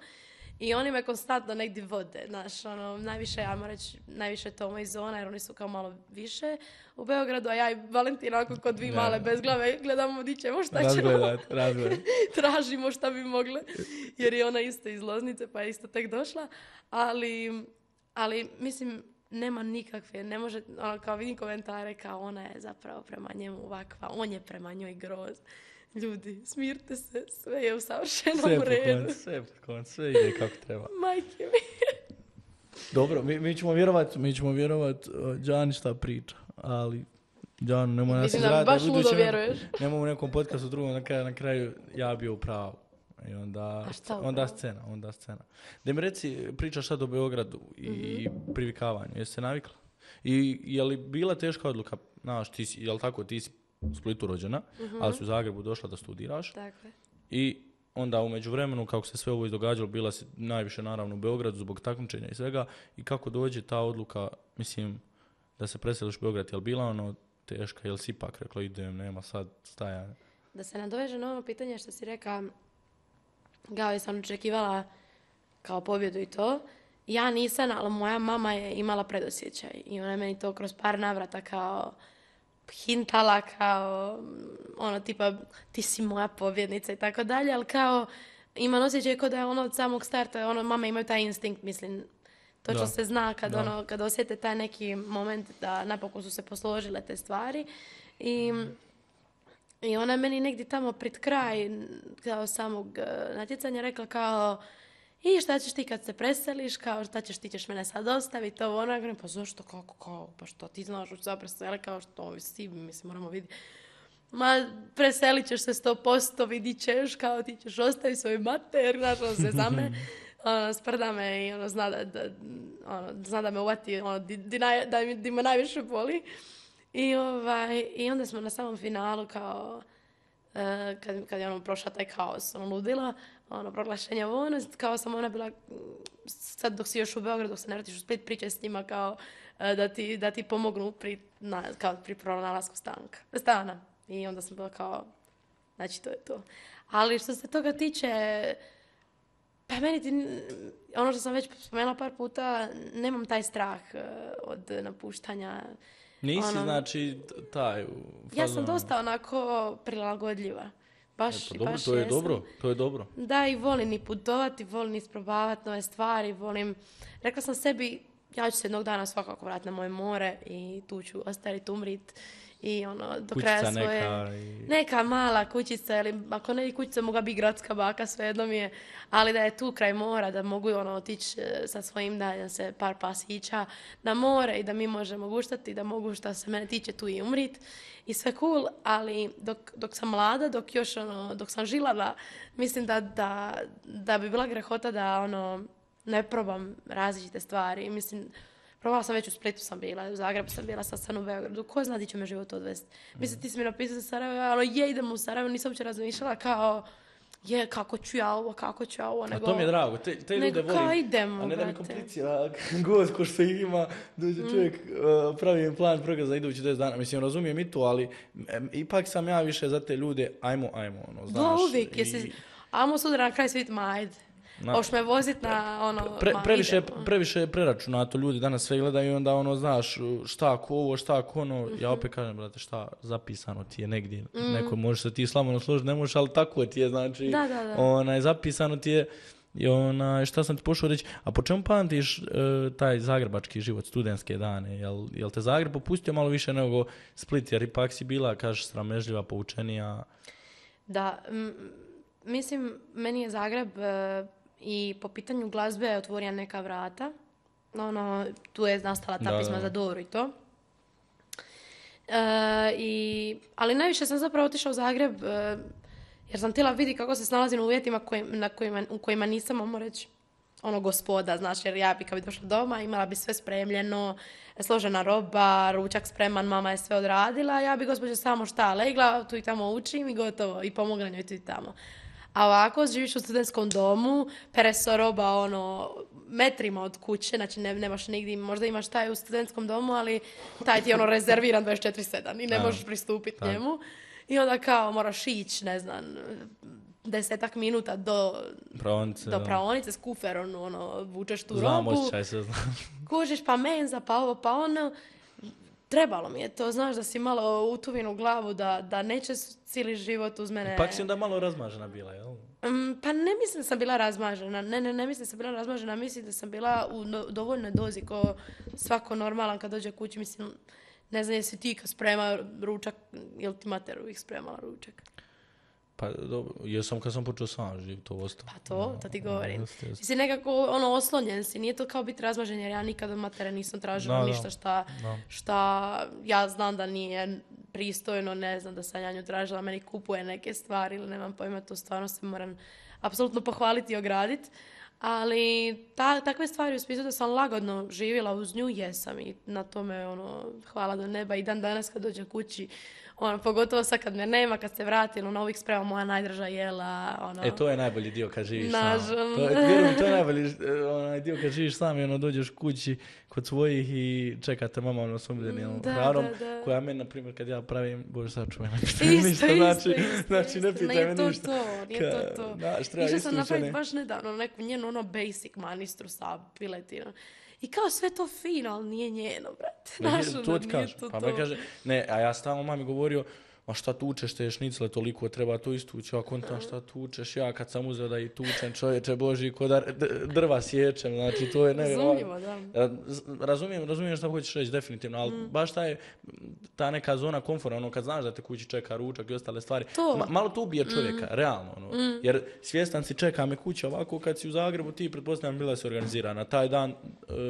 I oni me konstantno negdje vode, znaš, najviše, ajmo reći, najviše Tomo i Zona, jer oni su kao malo više u Beogradu, a ja i Valentina, ako kod dvi male bezglave, gledamo di ćemo, šta ćemo. Tražimo šta bi mogle, jer je ona isto iz Loznice, pa je isto tek došla, ali mislim, nema nikakve, ne može, kao vidim komentare, kao ona je zapravo prema njemu ovakva, on je prema njoj groz. Ljudi, smirte se, sve je u savršenom redu. Sve ide kako treba. Majke mi. Dobro, mi ćemo vjerovat Đani šta priča, ali Đanu nemoj nas izraditi. Mislim da baš ludo vjeruješ. Nemoj u nekom podcastu drugom na kraju ja bio u pravu. I onda scena. Da mi reci, pričaš sad o Beogradu i privikavanju, jesi se navikla? I je li bila teška odluka, znaš, ti si u Splitu rođena, ali si u Zagrebu došla da studiraš. Dakle. I onda u međuvremenu, kako se sve ovo izdogađalo, bila si najviše naravno u Beogradu zbog takmičenja i svega. I kako dođe ta odluka, mislim, da se preseliš u Beograd, je li bila teška, je li si ipak rekla idem, nema sad stajanja? Da se nadoveže na ovo pitanje što si rekao, kao sam očekivala kao pobjedu i to. Ja nisam, ali moja mama je imala predosjećaj i ona je meni to kroz par navrata kao hintala, kao tipa ti si moja pobjednica i tako dalje, ali kao imam osjećaj kao da je od samog starta, mama imaju taj instinkt, mislim, točno se zna kad osjete taj neki moment da napokon su se posložile te stvari i ona je meni negdje tamo pred kraj kao samog natjecanja rekla kao i šta ćeš ti kad se preseliš, kao šta ćeš, ti ćeš mene sad ostaviti, ovo ono, pa zašto, kako, pa što ti znaš u šta preseli, kao što svi, mislim, moramo vidjeti. Ma, preselit ćeš se 100%, vidit ćeš, kao ti ćeš ostaviti svoj mater, znaš, se za me, sprda me i zna da me uvati, di me najviše boli. I onda smo na samom finalu, kao, kad je prošla taj kaos, ludila, proglašenja kao sam ona bila, sad dok si još u Beogradu, dok se ne vratiš u Split, pričaj s njima kao da ti pomognu pri pronalasku stana. I onda sam bila kao, znači to je to. Ali što se toga tiče, pa meni ono što sam već spomenula par puta, nemam taj strah od napuštanja. Nisi, znači, taj... Ja sam dosta onako prilagodljiva. Baš to je dobro. Da, i volim i putovati, volim isprobavati nove stvari, rekla sam sebi, ja ću se jednog dana svakako vratiti na moje more i tu ću ostaviti, umrit i do kraja svoje... Neka mala kućica, ili ako ne i kućica, moga biti gradska baka, svejedno mi je, ali da je tu kraj mora, da mogu otići sa svojim daljem se par pasića na more i da mi možemo guštati, da mogu što se mene tiče tu i umrit. I sve cool, ali dok sam mlada, dok sam žilava, mislim da bi bila grehota da ne probam različite stvari. Mislim, probala sam već u Splitu sam bila, u Zagrebu sam bila, sad sam u Beogradu. Ko zna di će me život odvesti? Mislim, ti si mi napisao za Sarajevo, idem u Sarajevo, nisam uopće razmišljala kao kako ću ja ovo, nego... A to mi je drago, te ljude volim, idemo, a ne da mi komplicira god ko što ima, dođe čovjek, pravi plan programa za idući 10 dana, mislim, razumijem i to, ali ipak sam ja više za te ljude, ajmo, znaš. Uvijek, ajmo sutra na kraj svijeta, ajde. Hoš me vozit na previše preračunato, ljudi danas sve gledaju i onda znaš šta ako ovo, šta ako ono, ja opet kažem, brate, šta zapisano ti je negdje, neko možeš se ti slavno složiti, ne možeš, ali tako ti je, znači, zapisano ti je i šta sam ti pošao reći, a po čemu pamtiš taj zagrebački život, studentske dane, jel te Zagreb popustio malo više nego Split, jer ipak si bila, kažeš, sramežljiva, poučenija? Da, mislim, meni je Zagreb i po pitanju glazbe otvorio neka vrata. Tu je nastala ta pisma za Doru i to. Ali najviše sam zapravo otišla u Zagreb jer sam htjela vidjeti kako se snalazim u uvjetima u kojima nisam, mogu reći, gospoda, znaš, jer ja bi kad bi došla doma imala bi sve spremljeno, složena roba, ručak spreman, mama je sve odradila, ja bi gospođa samo šta legla, tu i tamo učim i gotovo, i pomogla njoj tu i tamo. A ovako živiš u studentskom domu, pere se roba metrima od kuće, znači nemaš nigdje, možda imaš taj u studentskom domu, ali taj ti je rezerviran 24/7 i ne možeš pristupiti njemu. I onda kao moraš ići, ne znam, 10 minuta do praonice s kuferom, vučeš tu znam, robu. osjećaj se, znam. Kužiš pa menza, pa ovo, pa ono. Trebalo mi je to, znaš da si malo utuvin u glavu, da neće cijeli život uz mene... Pak si onda malo razmažena bila, jel? Pa ne mislim da sam bila razmažena, ne mislim da sam bila razmažena, mislim da sam bila u dovoljnoj dozi ko svako normalan kad dođe kući, mislim, ne znam jesi ti kad sprema ručak, jel ti mater uvijek spremala ručak? Pa dobro, jesam kad sam počeo sam živjeti, to ostalo. Pa to ti govorim. Ti si nekako oslonjen si, nije to kao biti razmažen jer ja nikad od matere nisam tražila ništa šta ja znam da nije pristojno, ne znam da sam ja nju tražila, meni kupuje neke stvari ili nemam pojma, to stvarno se moram apsolutno pohvaliti i ograditi. Ali takve stvari u smislu da sam lagodno živjela uz nju, jesam i na tome hvala do neba i dan danas kad dođem kući, pogotovo sad kad me nema, kad se vratim, uvijek sprema moja najdraža jela. To je najbolji dio kad živiš sam. Nažalost. To je najbolji dio kad živiš sam i dođeš kući kod svojih i čekate mama osumljenim hranom, koja meni, na primjer, kad ja pravim, bože sačuvaj, ne pitaj me ništa, znači ne pitaj me ništa. Nije to. Išla sam napraviti baš nedavno neku njenu basic manistru sa piletinom. I kao sve to fino, ali nije njeno, brate. To ti kažem. Pa me kaže, ne, a ja stalno mami govorio, a šta tučeš te šnicle, toliko treba to istući, a kontam šta tučeš, ja kad sam uzeo da i tučem, čovječe Boži, ko da drva sjećem, znači to je razumljivo, da. Razumijem šta hoćeš reći, definitivno, ali baš ta neka zona komfora, kad znaš da te kući čeka ručak i ostale stvari, malo to ubije čovjeka, realno, jer svjestan si čeka me kuća ovako, kad si u Zagrebu, ti pretpostavljam bila si organizirana, taj dan,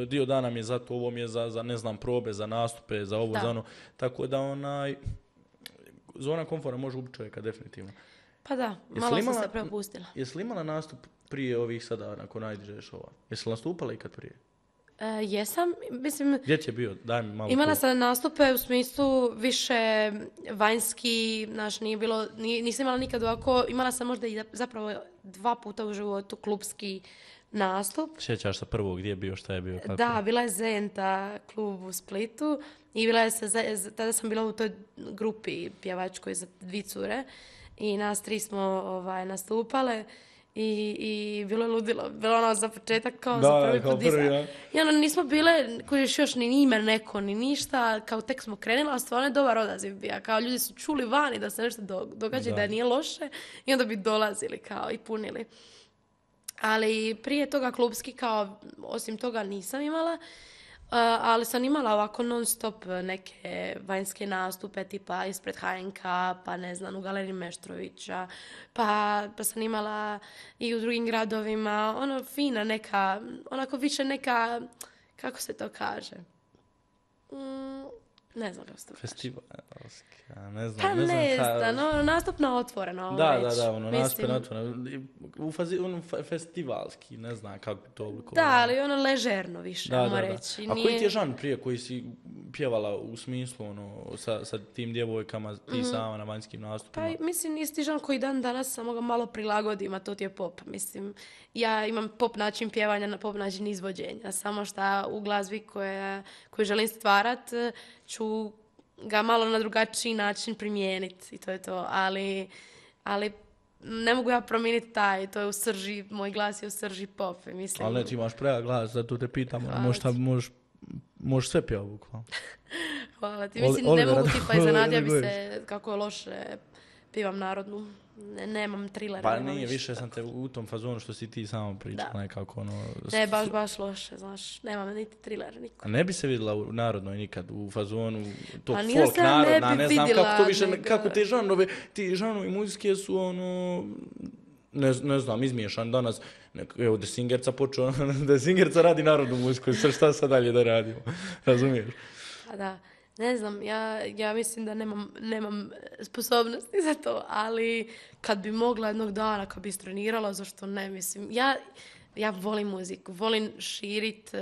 dio dana mi je za to, ovo mi je za ne znam, probe, za nastupe, za ovo, za ono, tako da zona komfora može ubiti čovjeka, definitivno. Pa da, malo sam se propustila. Jesi li imala nastup prije ovih sada, nakon najdiže šova? Jesi li nastupala ikad prije? Jesam, mislim... Gdje ti je bio? Daj mi malo. Imala sam nastupe u smislu više vanjski, znaš, nisam imala nikad ovako, imala sam možda i zapravo 2 puta u životu klubski nastup. Sjećaš se prvog, gdje je bio, šta je bio? Kako? Da, bila je Zenta klub u Splitu i tada sam bila u toj grupi pjevačkoj za 2 cure i nas 3 smo nastupale i bilo je ludilo. Bilo za početak kao za prvi put. I nismo bile, kojiš još ni ime neko, ni ništa, kao tek smo krenila, a stvarno je dobar odaziv bio. Kao ljudi su čuli vani da se nešto događa, da nije loše i onda bi dolazili kao i punili. Ali prije toga klubski kao, osim toga nisam imala, ali sam imala ovako non stop neke vanjske nastupe tipa ispred HNK, pa ne znam, u Galeriji Meštrovića, pa sam imala i u drugim gradovima, fina neka, onako više neka, kako se to kaže? Ne znam kako se to kaže. Festivalski, ne znam. Pa ne znam, nastup na otvoreno. Da, nastup na otvoreno. Festivalski, ne znam kako to oblikovano. Da, ali ležerno više, ajmo reći. A koji ti je žan prije koji si pjevala u smislu sa tim djevojkama, ti sama na vanjskim nastupima? Pa mislim, isti žan koji dan danas, samo ga malo prilagodim, a to ti je pop. Mislim, ja imam pop način pjevanja, na pop način izvođenja. Samo što u glazbi koju želim stvarat, ću ga malo na drugačiji način primijeniti i to je to, ali ne mogu ja promijeniti to je u srži, moj glas je u srži pop, mislim. Ali ne, ti imaš prejak glas, zato te pitam, možeš sve pjevati bukvalno. Hvala ti, mislim, ne mogu tipa iznenadio bi se kako je loše pjevam narodnu. Nemam trilera. Pa nije, više sam te u tom fazonu što si ti samo pričala nekako Ne, baš loše, znaš, nemam niti trilera niko. A ne bi se vidjela u narodnoj nikad, u fazonu tog folk narodna, ne znam kako to više, kako ti žanovi muzike su ne znam, izmiješan danas. Evo, The Singerca počeo, The Singerca radi narodnu muziku, šta sad dalje da radimo, razumiješ? Pa da. Ne znam, ja mislim da nemam sposobnosti za to, ali kad bi mogla jednog dana, kad bi istrenirala, zašto ne, mislim, ja volim muziku, volim širiti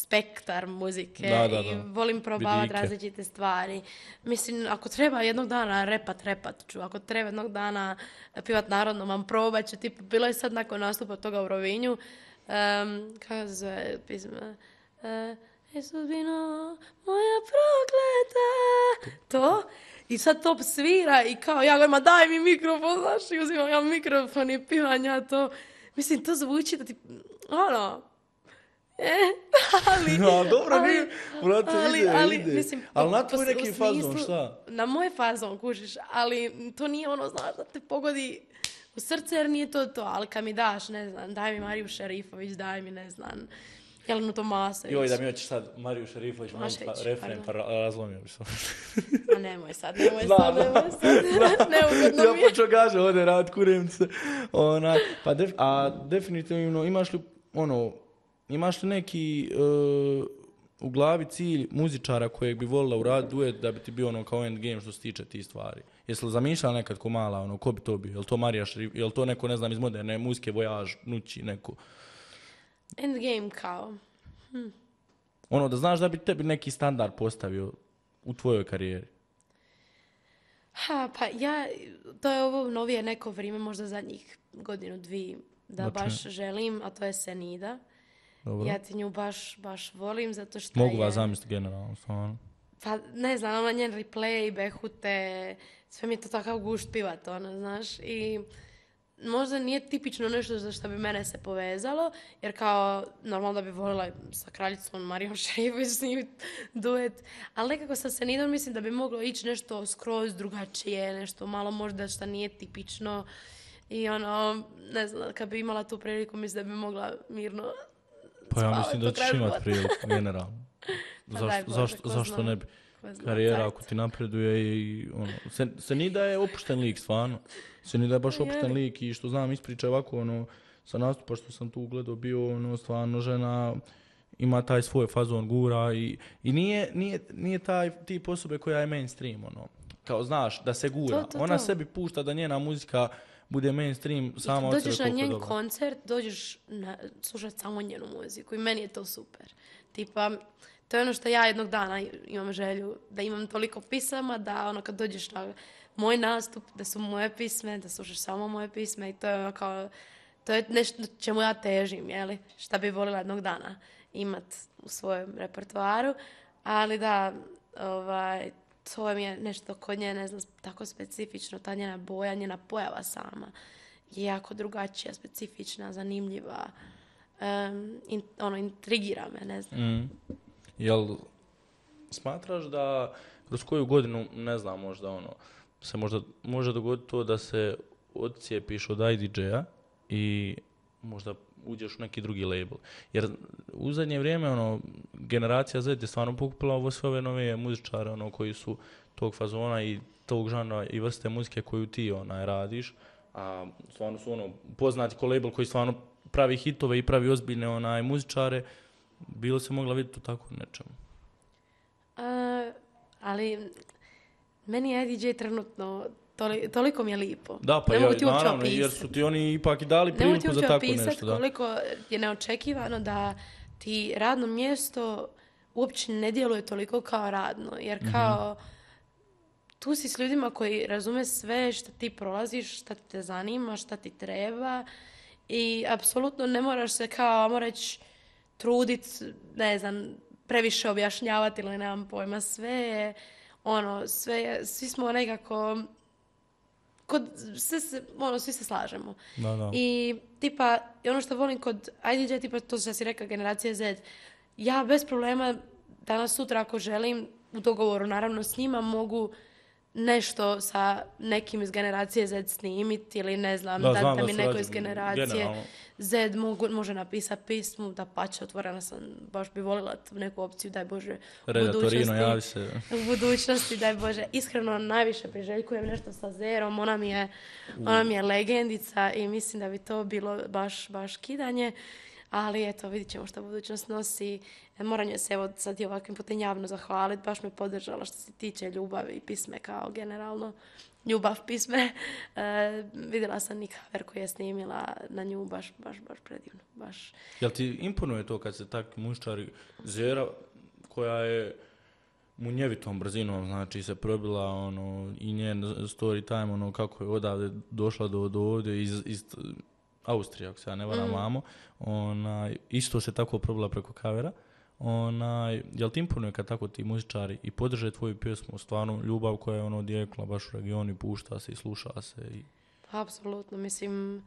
spektar muzike Da. i volim probavati Vidike. različite stvari. Mislim, ako treba jednog dana repat ću. Ako treba jednog dana pivat narodno, vam probat ću. Tipa, bilo je sad nakon nastupa toga u Rovinju. Kako se zove pisma? Sudbino moja prokleta. To. I sad to svira i kao ja govorim, daj mi mikrofon, znaš, i uzimam ja mikrofon i pivam ja to. Mislim, to zvuči da ti, ali... No, dobro, brate, ide. Mislim, ali na tvoj u neki fazon, smislu, šta? Na moj fazon, kužiš, ali to nije ono, znaš, da te pogodi u srce, jer nije to, ali kad mi daš, ne znam, daj mi Mariju Šerifović, daj mi, ne znam, Jelenu Tomasović. Joj, da mi hoćeš sad Mariju Šerifović, refren, pa razlomio bi se. A nemoj sad. Neugodno Ja mi je. počeo kaže, ode rad, kurem se. Definitivno, imaš li neki u glavi cilj muzičara kojeg bi volila uraditi duet da bi ti bio kao endgame što se tiče tih stvari? Jesi li zamišljala nekad ko mala, ko bi to bio? Je li to Marija Šerif, je li to neko, ne znam, iz moderne muzike, Voyage, Nući, neko? Endgame kao. Da znaš da bi tebi neki standard postavio u tvojoj karijeri. To je ovo novije neko vrijeme, možda zadnjih godinu, dvije, da baš želim, a to je Senida. Dobro. Ja ti nju baš volim, zato što Mogu vas zamisliti generalno, stvarno. Pa ne znam, ona njen replay, behute, sve mi je to takav gušt pivat, znaš, i možda nije tipično nešto za što bi mene se povezalo, jer kao normalno da bi volila sa kraljicom Marijom Šerifović snimiti duet, ali nekako sa Senidom mislim da bi moglo ići nešto skroz drugačije, nešto malo možda što nije tipično i ne znam, kad bi imala tu priliku mislim da bi mogla mirno pa ja mislim da ćeš imati priliku, generalno. Zašto ne bi? Karijera ako ti napreduje i Senida je opušten lik, stvarno. Senida je baš opušten lik i što znam ispriča ovako, sa nastupa što sam tu gledao bio, stvarno žena ima taj svoj fazon gura i nije taj tip osobe koja je mainstream, kao znaš, da se gura. Ona sebi pušta da njena muzika bude mainstream sama od sebe. Dođeš na njen koncert, dođeš slušati samo njenu muziku i meni je to super. Tipa, to je ono što ja jednog dana imam želju, da imam toliko pisama, da kad dođeš na moj nastup, da su moje pisme, da slušaš samo moje pisme i to je to je nešto čemu ja težim, jeli? Šta bi volila jednog dana imat u svojem repertoaru, ali da, to mi je nešto kod nje, ne znam, tako specifično, ta njena boja, njena pojava sama je jako drugačija, specifična, zanimljiva, intrigira me, ne znam. Jel smatraš da kroz koju godinu, ne znam, možda se može dogoditi to da se odcijepiš od IDJ-a i možda uđeš u neki drugi label? Jer u zadnje vrijeme generacija Z je stvarno pokupila ovo sve ove nove muzičare koji su tog fazona i tog žanra i vrste muzike koju ti radiš, a stvarno su poznati ko label koji stvarno pravi hitove i pravi ozbiljne muzičare. Bilo se mogla vidjeti u tako nečemu? Ali meni je IDJ trenutno toliko mi je lipo. Da, pa naravno, jer su ti oni ipak i dali priliku za tako nešto. Ne mogu ti opisati koliko je neočekivano da ti radno mjesto uopće ne djeluje toliko kao radno. Jer kao tu si s ljudima koji razume sve što ti prolaziš, šta te zanima, šta ti treba i apsolutno ne moraš se kao, ajmo reći, trudit, ne znam, previše objašnjavati ili nemam pojma, svi smo nekako, svi se slažemo. Da. I tipa, ono što volim kod IDJ, tipa to što si rekla, generacija Z, ja bez problema danas sutra ako želim, u dogovoru naravno s njima, mogu nešto sa nekim iz generacije Z snimiti ili ne znam, da mi neko iz generacije Z može napisati pismu, da pače, otvorena sam, baš bi volila neku opciju, daj Bože, u budućnosti, daj Bože. Iskreno, najviše priželjkujem nešto sa Zerom, ona mi je legendica i mislim da bi to bilo baš kidanje. Ali eto, vidit ćemo što budućnost nosi. Moram joj se evo sad i ovakvim putem javno zahvaliti. Baš me podržala što se tiče ljubavi i pisme kao generalno. Ljubav pisme. Vidjela sam i cover koji je snimila na nju, baš predivno. Baš. Jel ti imponuje to kad se takvi muščari, Zera koja je munjevitom brzinom, znači se probila i njen story time, kako je odavde došla do ovdje iz Austrije, ako se ja ne varam, mamo, isto se tako probila preko kavera. Jel ti imponuje kad tako ti muzičari i podrže tvoju pjesmu, stvarno ljubav koja je odjekla baš u regionu i pušta se i sluša se? Apsolutno, mislim,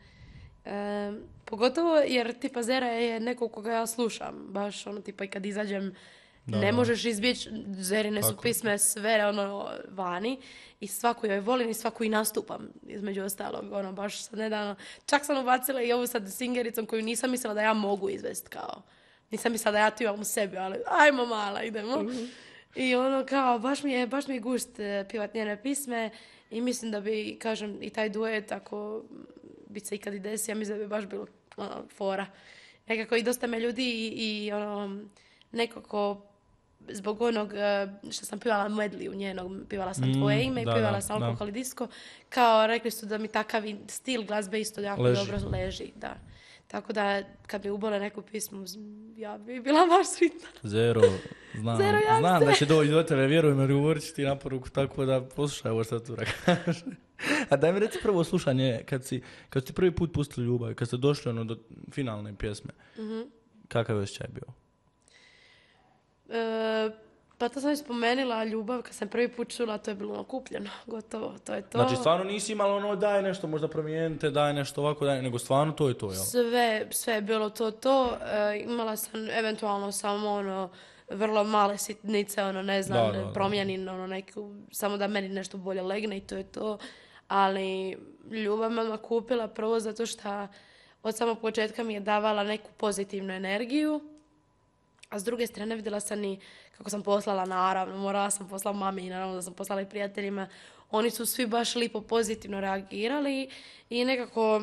pogotovo jer tipa Zera je neko koga ja slušam, baš tipa i kad izađem ne možeš izbjeći, Zerine su pisme sve vani i svaku joj volim i svaku i nastupam između ostalog, baš sad nedavno, čak sam ubacila i ovu sad singericom koju nisam mislila da ja mogu izvesti kao, nisam mislila da ja tu imam u sebi, ali ajmo mala, idemo. I kao, baš mi je gušt pjevat njene pisme i mislim da bi, kažem, i taj duet, ako bi se ikad i desi, ja mislim da bi baš bilo fora. Nekako i dosta me ljudi i nekako zbog onog što sam pjevala medley u njenog, pjevala sam tvoje ime i pjevala sam Alkohol i Disco, kao rekli su da mi takav stil glazbe isto jako dobro leži, da. Tako da kad mi ubole neku pismu, ja bi bila baš sretna. Zero, znam da će doći do tebe, vjerujem, jer govorit ću ti na poruku, tako da poslušaj ovo što tu kaže. A daj mi reci prvo slušanje, kad si ti prvi put pustili ljubav, kad ste došli do finalne pjesme, kakav je osjećaj bio? Pa to sam i spomenula, ljubav, kad sam prvi put čula, to je bilo kupljeno, gotovo, to je to. Znači, stvarno nisi imala daj nešto, možda promijenite, daj nešto ovako, nego stvarno to je to, jel? Sve je bilo to. Imala sam eventualno samo vrlo male sitnice, ne znam, promijenim neku, samo da meni nešto bolje legne i to je to. Ali ljubav me odmah kupila prvo zato što od samog početka mi je davala neku pozitivnu energiju. A s druge strane vidjela sam i kako sam poslala, naravno, morala sam poslati mami i naravno da sam poslala i prijateljima. Oni su svi baš lipo pozitivno reagirali i nekako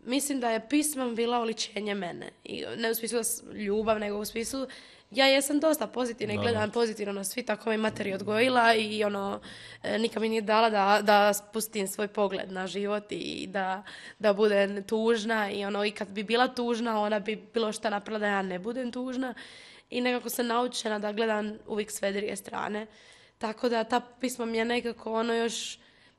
mislim da je pisma bila oličenje mene. I ne u smislu ljubav, nego u smislu ja jesam dosta pozitivna i gledam pozitivno na svi, tako me materi odgojila i nikad mi nije dala da spustim svoj pogled na život i da budem tužna i kad bi bila tužna, ona bi bilo šta napravila da ja ne budem tužna i nekako sam naučena da gledam uvijek sve druge strane. Tako da ta pisma mi je nekako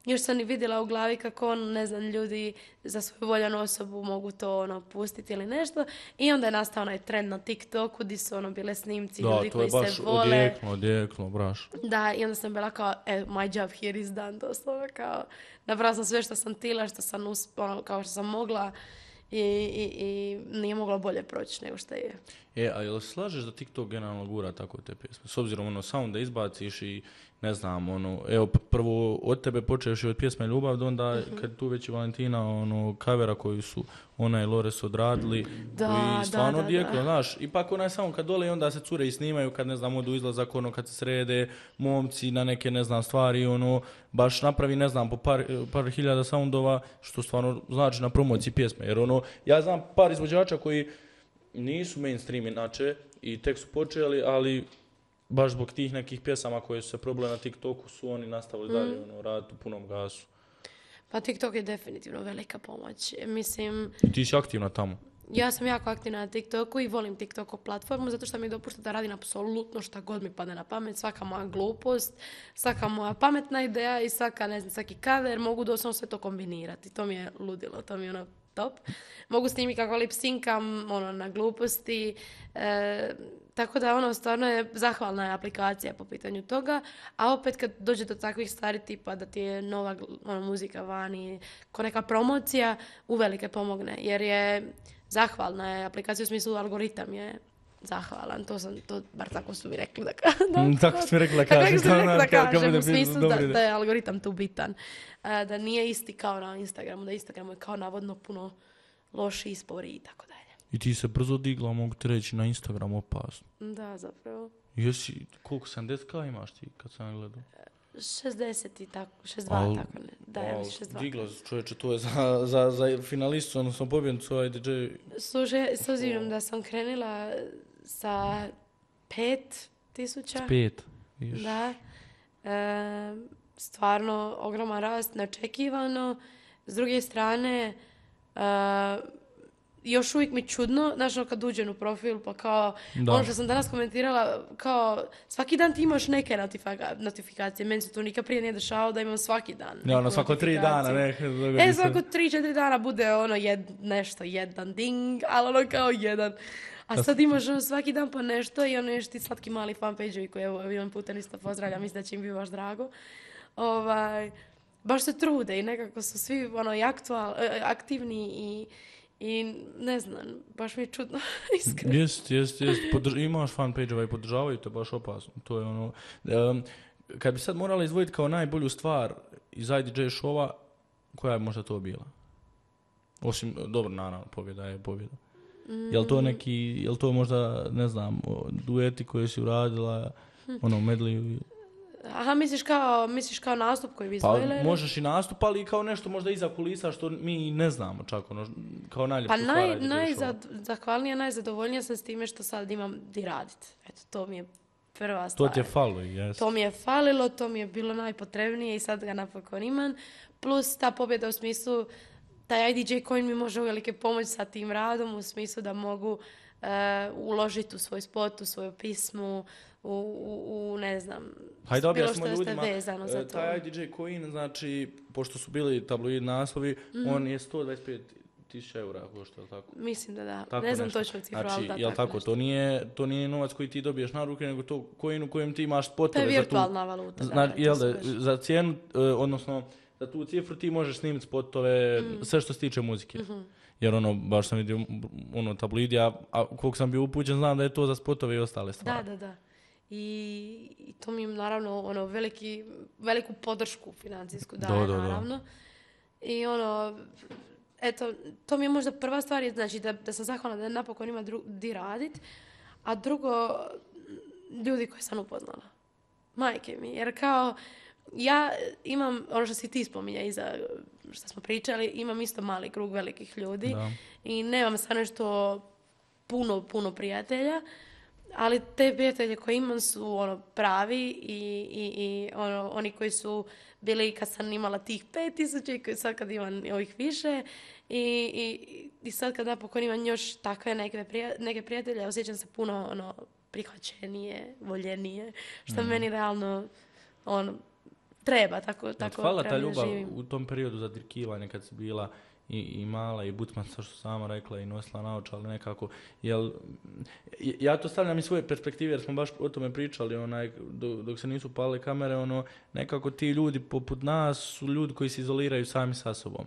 još sam i vidjela u glavi kako ne znam, ljudi za svoju voljenu osobu mogu to pustiti ili nešto. I onda je nastao onaj trend na TikToku gdje su bile snimci ljudi koji se vole. Da, to je baš odjeklo, braš. Da, i onda sam bila kao, my job here is done, doslovno kao, napravila sam sve što sam tila, što sam kao što sam mogla i nije mogla bolje proći nego što je. A jel se slažeš da TikTok generalno gura tako te pjesme? S obzirom samo da izbaciš i ne znam, evo prvo od tebe počeš od pjesme Ljubav, do onda kad tu već i Valentina kavera koju su ona i Lores odradili i stvarno odjeklo, znaš, ipak ona je samo kad dole i onda se cure i snimaju kad ne znam odu izlazak, kad se srede momci na neke ne znam stvari, baš napravi ne znam po par hiljada soundova, što stvarno znači na promociji pjesme, jer ja znam par izvođača koji nisu mainstream inače i tek su počeli, ali baš zbog tih nekih pjesama koje su se probile na TikToku su oni nastavili dalje raditi u punom gasu. Pa TikTok je definitivno velika pomoć. Mislim... I ti si aktivna tamo? Ja sam jako aktivna na TikToku i volim TikTok platformu zato što mi dopušta da radim apsolutno šta god mi padne na pamet, svaka moja glupost, svaka moja pametna ideja i svaki cover, mogu doslovno sve to kombinirati. To mi je ludilo, to mi je top. Mogu snimiti kako lip syncam, na gluposti. Tako da stvarno je zahvalna je aplikacija po pitanju toga, a opet kad dođe do takvih stvari tipa da ti je nova muzika vani, ko neka promocija, uvelike pomogne, jer je zahvalna je aplikacija u smislu algoritam je zahvalan, bar tako su mi rekli da kažem. Tako su mi rekli da kažem, u smislu da je algoritam tu bitan. Da nije isti kao na Instagramu, da Instagram je kao navodno puno loši ispori i tako dalje. I ti se brzo digla, mogu ti reći, na Instagram opasno. Da, zapravo. Jesi, koliko 70k imaš ti kad sam gledao? 60 i tako, 62, Al- tako ne. Da, ja mislim 62. Diglo, čovječe, to je za finalistu, odnosno pobjednicu IDJ. Slušaj, s obzirom da sam krenula sa 5.000, 5. Viš. da, stvarno ogroman rast, neočekivano. S druge strane, još uvijek mi čudno, znaš, ono kad uđem u profil, pa kao, Da. ono što sam danas komentirala, kao, svaki dan ti imaš neke notifikacije, meni se to nikad prije nije dešavalo da imam svaki dan. Ja, ono, neku svako 3 dana, notifikaciju. ne. Svako 3-4 dana bude ono nešto, jedan ding, ali ono kao jedan. A sad imaš ono svaki dan pa nešto i ono još ti slatki mali fanpage-ovi koji evo jedan puta isto pozdravljam, mislim da će im biti baš drago. Baš se trude i nekako su svi ono, i aktivni i ne znam, baš mi je čudno, iskreno. Jest. Imaš fanpage-ova i podržavaju te, baš opasno. To je ono... kad bi sad morala izdvojiti kao najbolju stvar iz IDJ showa, koja je možda to bila? Osim, dobro, naravno, pobjeda je pobjeda. Jel to možda, ne znam, dueti koje si uradila, ono, medley? Aha, misliš kao nastup koji bi Pa izdvojile? možeš i nastup, ali i kao nešto možda iza kulisa što mi ne znamo čak, ono, kao najljepša Pa stvar IDJ showa. zahvalnija, najzadovoljnija sam s time što sad imam di radit. Eto, to mi je prva To stvar. ti je falo, jes. To mi je falilo, to mi je bilo najpotrebnije i sad ga napokon imam. Plus ta pobjeda u smislu, taj IDJ coin mi može uvelike pomoći sa tim radom u smislu da mogu uložiti u svoj spot, u svoju pismu, u ne znam, Hajde bilo objasnimo što ljudima, je vezano za to. taj IDJ coin, znači, pošto su bili tabloid naslovi, on je 125.000 eura košta, je li tako? Mislim da da. Tako Ne znam nešto. točno cifru, Znači, ali da, jel tako, nešto. to nije novac koji ti dobiješ na ruke, nego to coin u kojem ti imaš spotove. To je za tu- virtualna valuta. Znači, to jel su da, baš- za cijenu, odnosno, za tu cifru ti možeš snimiti spotove, sve što se tiče muzike. Jer ono, baš sam vidio, ono, tabloid, a koliko sam bio upućen, znam da je to za spotove i ostale stvari. Da. I to mi je naravno ono, veliku podršku financijsku daje, Da. naravno. I ono, eto, to mi je možda prva stvar, znači da sam zahvalna da napokon ima di radit, a drugo, ljudi koje sam upoznala. Majke mi, jer kao, ja imam, ono što si ti spominja iza što smo pričali, imam isto mali krug velikih ljudi Da. i nemam sad nešto puno prijatelja, ali te prijatelje koje imam su ono pravi i ono, oni koji su bili kad sam imala tih 5.000 i koji sad kad imam ovih više i sad kad napokon imam još takve neke prijatelje, osjećam se puno ono, prihvaćenije, voljenije, što meni realno ono, treba, tako Hvala treba ta da ljubav živim. u tom periodu za dirkivanje kad si bila i mala i butman, što sama rekla, i nosila naočale nekako. Ja to stavljam iz svoje perspektive jer smo baš o tome pričali, dok se nisu palile kamere, nekako ti ljudi poput nas su ljudi koji se izoliraju sami sa sobom.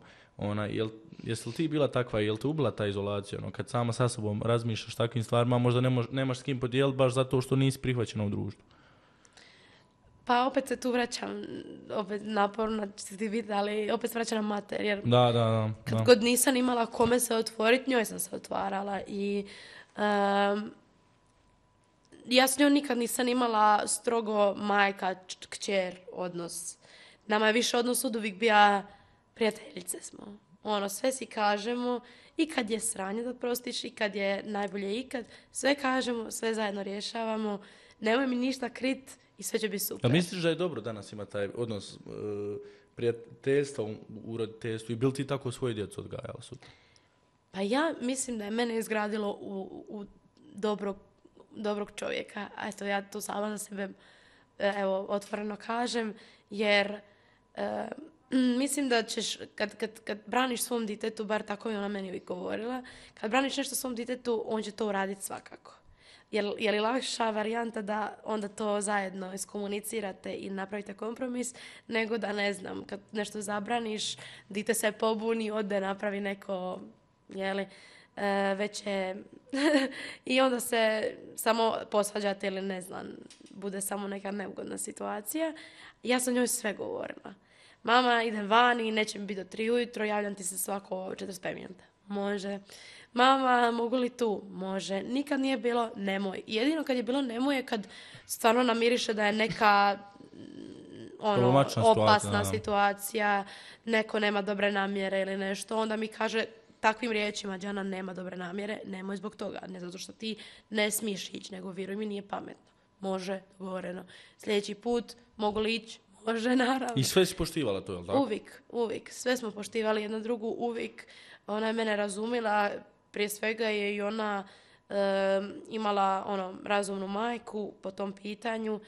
Jesi li ti bila takva, jel te ubila ta izolacija? Kad sama sa sobom razmišljaš takvim stvarima, možda nemaš s kim podijeliti baš zato što nisi prihvaćena u društvu. Pa opet se tu vraćam, opet naporno će ti biti, ali opet se vraćam na mater, jer Da. kad god nisam imala kome se otvoriti, njoj sam se otvarala i ja s njom nikad nisam imala strogo majka, kćer odnos. Nama je više odnos od uvijek bio prijateljice smo. Ono, sve si kažemo i kad je sranje da prostiš i kad je najbolje ikad, sve kažemo, sve zajedno rješavamo, nemoj mi ništa krit i sve će biti super. A misliš da je dobro danas ima taj odnos prijateljstva u roditeljstvu i bil ti tako svoju djecu odgajala sutra? Pa ja mislim da je mene izgradilo u dobrog čovjeka. A eto, ja to sama za sebe evo, otvoreno kažem, jer mislim da ćeš, kad braniš svom ditetu, bar tako je ona meni uvijek govorila, kad braniš nešto svom ditetu, on će to uraditi svakako. Je li lakša varijanta da onda to zajedno iskomunicirate i napravite kompromis, nego da, ne znam, kad nešto zabraniš, dite se pobuni, ode napravi neko, već je i onda se samo posvađate ili ne znam, bude samo neka neugodna situacija. Ja sam njoj sve govorila. Mama, idem vani, neće mi biti do 3 ujutro, javljam ti se svako 45 minuta. Može. Mama, mogu li tu? Može. Nikad nije bilo nemoj. Jedino kad je bilo nemoj je kad stvarno namiriše da je neka Problematična opasna situacija, da. situacija, neko nema dobre namjere ili nešto, onda mi kaže takvim riječima, Đana nema dobre namjere, nemoj zbog toga, ne zato što ti ne smiješ ići, nego vjeruj mi nije pametno. Može, dogovoreno. Sljedeći put mogu li ići? Može, naravno. I sve si poštivala to, jel tako? Uvijek. Sve smo poštivali jedna drugu, uvijek. Ona je mene razumila, prije svega je i ona imala razumnu majku po tom pitanju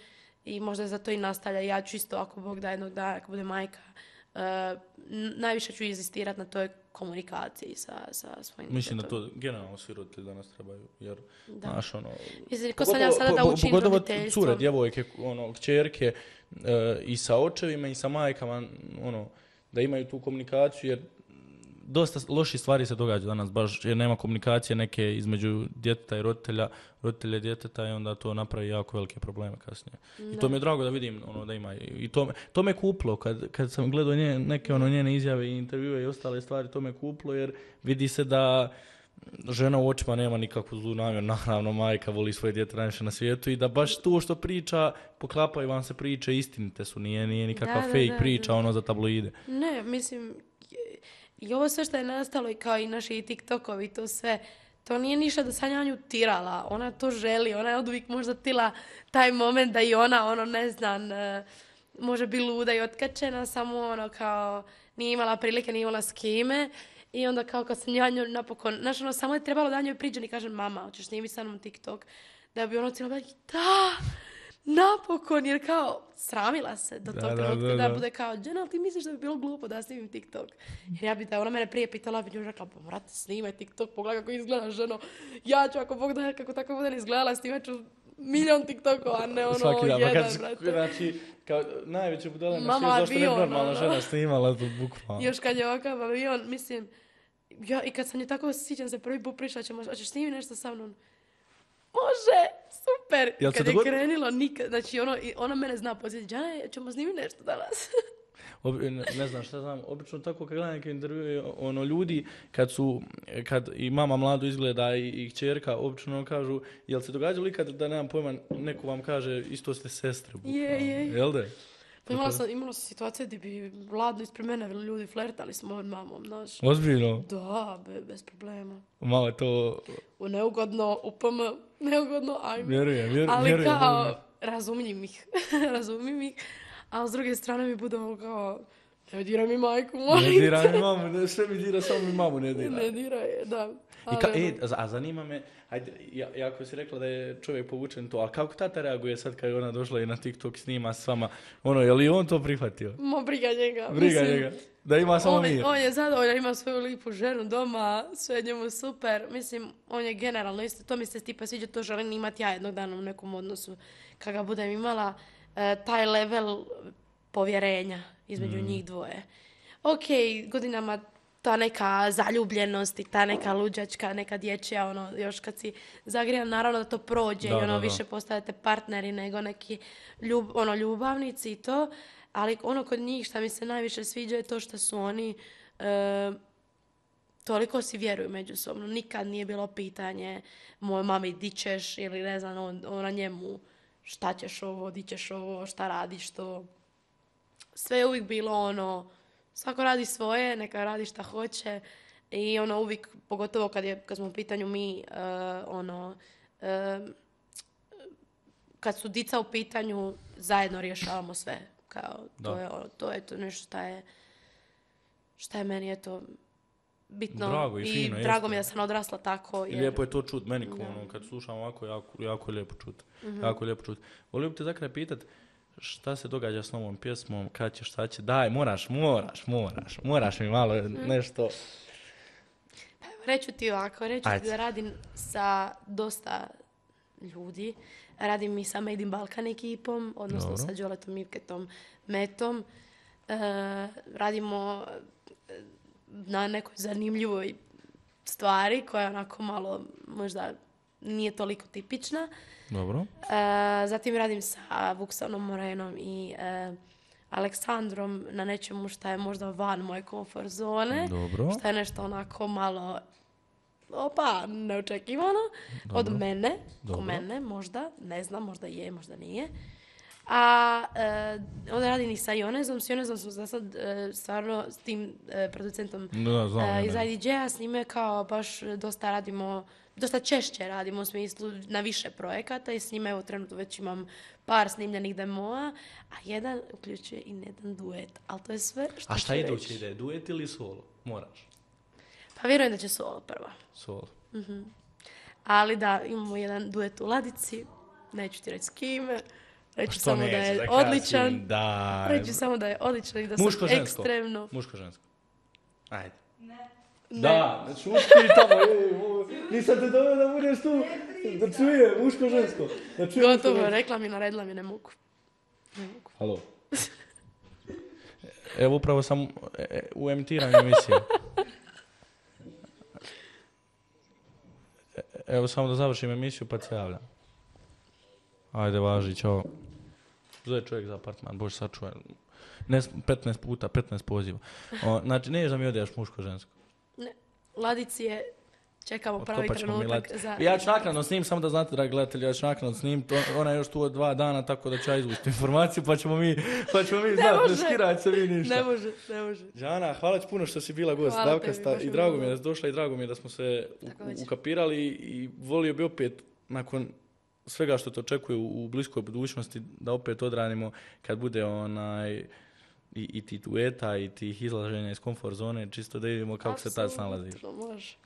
i možda zato i nastavlja. Ja ću isto, ako Bog da jednog dana, ako bude majka, najviše ću inzistirati na toj komunikaciji sa svojim Mislim djetetom. da to generalno svi roditelji danas trebaju, jer, Da. znaš, Mislim, ko sam ja sada da učim pogotovo roditeljstvom. cure, djevojke, kćerke, i sa očevima i sa majkama, da imaju tu komunikaciju, jer dosta loših stvari se događa danas, baš jer nema komunikacije neke između djeteta i roditelja djeteta i onda to napravi jako velike probleme kasnije. Da. I to mi je drago da vidim da ima. I to me kuplo, kad sam gledao neke njene izjave i intervjue i ostale stvari, to me kuplo jer vidi se da žena u očima nema nikakvu zlu namjeru, naravno majka voli svoje dijete najviše na svijetu i da baš to što priča, poklapaju vam se priče, istinite su, nije nikakva fake priča za tabloide. Ne, mislim, i ovo sve što je nastalo i kao i naši TikTokovi i to sve, to nije ništa da sam ja nju tirala, ona to želi, ona je oduvijek možda tila taj moment da i ona, ne znam, može biti luda i otkačena, samo kao nije imala prilike, nije imala s kime. I onda kao kad sam ja nju napokon, znaš, samo je trebalo da njoj priđem i kažem, mama, hoćeš snimiti sa mnom TikTok? Da bi cijelo bila, da, napokon, jer kao sramila se do tog trenutka da bude kao, Đena, ali ti misliš da bi bilo glupo da snimim TikTok? Jer ja bi da ona mene prije pitala, bi nju rekla, pa brate, snimaj TikTok, pogledaj kako izgledaš, ženo, ja ću ako Bog da kako tako bude izgledala, snimat ću milion TikTokova, a ne jedan, brate. Znači, kao najveće budale na svijetu, zašto ne normalna žena snimala to bukvalno. Još kad je ovakav avion, mislim, ja i kad sam je tako sjećam se prvi put prišla, hoćeš snimiti nešto sa mnom? Može, super. Kad je krenilo, nikad, znači ona mene zna posjetiti, Đana, ćemo snimiti nešto danas. Ne znam šta znam, obično tako kad gledam neke intervjue, ljudi kad i mama mlado izgleda i kćerka, obično kažu, jel se događalo ikad da nemam pojma, neko vam kaže isto ste sestre, bukvalno. Je. Jel da? Pa imala sam situacije gdje bi Vlado ispred mene ljudi flertali s mojom mamom, znaš. Ozbiljno? Da, bez problema. Malo to... Neugodno, neugodno, ajme. Vjerujem. Ali kao, razumijem ih, a s druge strane mi bude ovo kao, ne diraj mi majku, molim. Ne diraj mi mamu, sve mi dira, samo mi mamu ne diraj. Ne diraj, da. A zanima me, ajde, jako si rekla da je čovjek povučen to, ali kako tata reaguje sad kad je ona došla i na TikTok snima s vama, je li on to prihvatio? Briga njega. Njega, da ima samo mir. On je zadovoljan, ima svoju lijepu ženu doma, sve je njemu super, mislim, on je generalno isto, to mi se tipa sviđa, to želim imati ja jednog dana u nekom odnosu, kad ga budem imala, taj level povjerenja između njih dvoje. Ok, godinama ta neka zaljubljenost i ta neka luđačka, neka dječja, još kad si zagrijan, naravno da to prođe i više postajete partneri nego neki ljubavnici i to, ali kod njih što mi se najviše sviđa je to što su oni toliko si vjeruju međusobno. Nikad nije bilo pitanje mojoj mami di ćeš ili ne znam, ona njemu šta ćeš ovo, di ćeš ovo, šta radiš to. Sve je uvijek bilo svako radi svoje, neka radi šta hoće i uvijek, pogotovo kad smo u pitanju mi, kad su dica u pitanju, zajedno rješavamo sve. Kao, to je to nešto šta je meni bitno. Drago i fino. I drago mi je da sam odrasla tako. I lijepo je to čut meni, kad slušam ovako, jako je lijepo čut. Jako je lijepo čut. Volio bi te za kraj pitat, šta se događa s novom pjesmom, kad će, šta će, daj, moraš mi malo nešto. Reću ti da radim sa dosta ljudi, radim i sa Made in Balkan ekipom, odnosno sa Đoletom, Mirketom, Metom, radimo na nekoj zanimljivoj stvari koja je onako malo možda nije toliko tipična. Dobro. Zatim radim sa Vuksanom Morenom i Aleksandrom na nečemu što je možda van moje komfort zone. Dobro. Što je nešto onako malo neočekivano. Dobro. Od mene. Dobro. Ko mene, možda. Ne znam, možda je, možda nije. A onda radim i sa Jonezom. S Jonezom smo za sad stvarno s tim producentom Da, znam, iz IDJ-a. S njime kao baš dosta radimo, dosta češće radimo u smislu na više projekata i s njime evo trenutno već imam par snimljenih demoa, a jedan uključuje i jedan duet. Ali to je sve što A šta ću idući reći. ide? Duet ili solo? Moraš. Pa vjerujem da će solo prva. Solo. Ali da, imamo jedan duet u ladici. Neću ti reći s kime. Reću Što samo da nećeš je da odličan. kažem? Da. Reću samo da je odličan i da sam Muško-žensko. ekstremno... Muško-žensko. Ajde. Ne. Da, šuški tamo, nisam te doveo da budeš tu, da čuje muško-žensko. Da čuje Gotovo, muško-žensko. rekla mi, naredila mi, ne mogu. Ne mogu. Halo. Evo upravo sam u emitiranju emisije. Evo samo da završim emisiju pa se javljam. Ajde, važi, čao. Zove čovjek za apartman, bože sačuvaj. 15 puta, 15 poziva. Znači, ne da mi odeš muško-žensko. Ne. Ladici je, čekamo pravi Otkopat ćemo trenutak Milad. za... Ja ću naknadno snim, samo da znate, dragi gledatelji, ja ću naknadno snim. Ona je još tu od 2 dana, tako da ću ja izvući informaciju, pa ćemo mi znati, ne skirać se vi ništa. Ne može, ne može. Žana, hvala ti puno što si bila gost Hvala Davkasta tebi, baš i mi drago bilo. mi je da si došla i drago mi je da smo se Također. ukapirali i volio bi opet, nakon svega što te očekuje u bliskoj budućnosti, da opet odradimo kad bude i ti dueta i tih izlaženja iz komfort zone, čisto da vidimo kako se tad snalaziš. Apsolutno, može.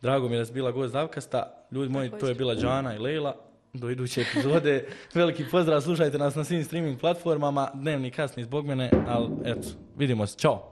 Drago mi je da si bila gost Davkasta. Ljudi moji, to je Također. bila Đana i Lejla. Do iduće epizode. Veliki pozdrav, slušajte nas na svim streaming platformama. Dnevni kasni zbog mene, ali eto, vidimo se. Ćao!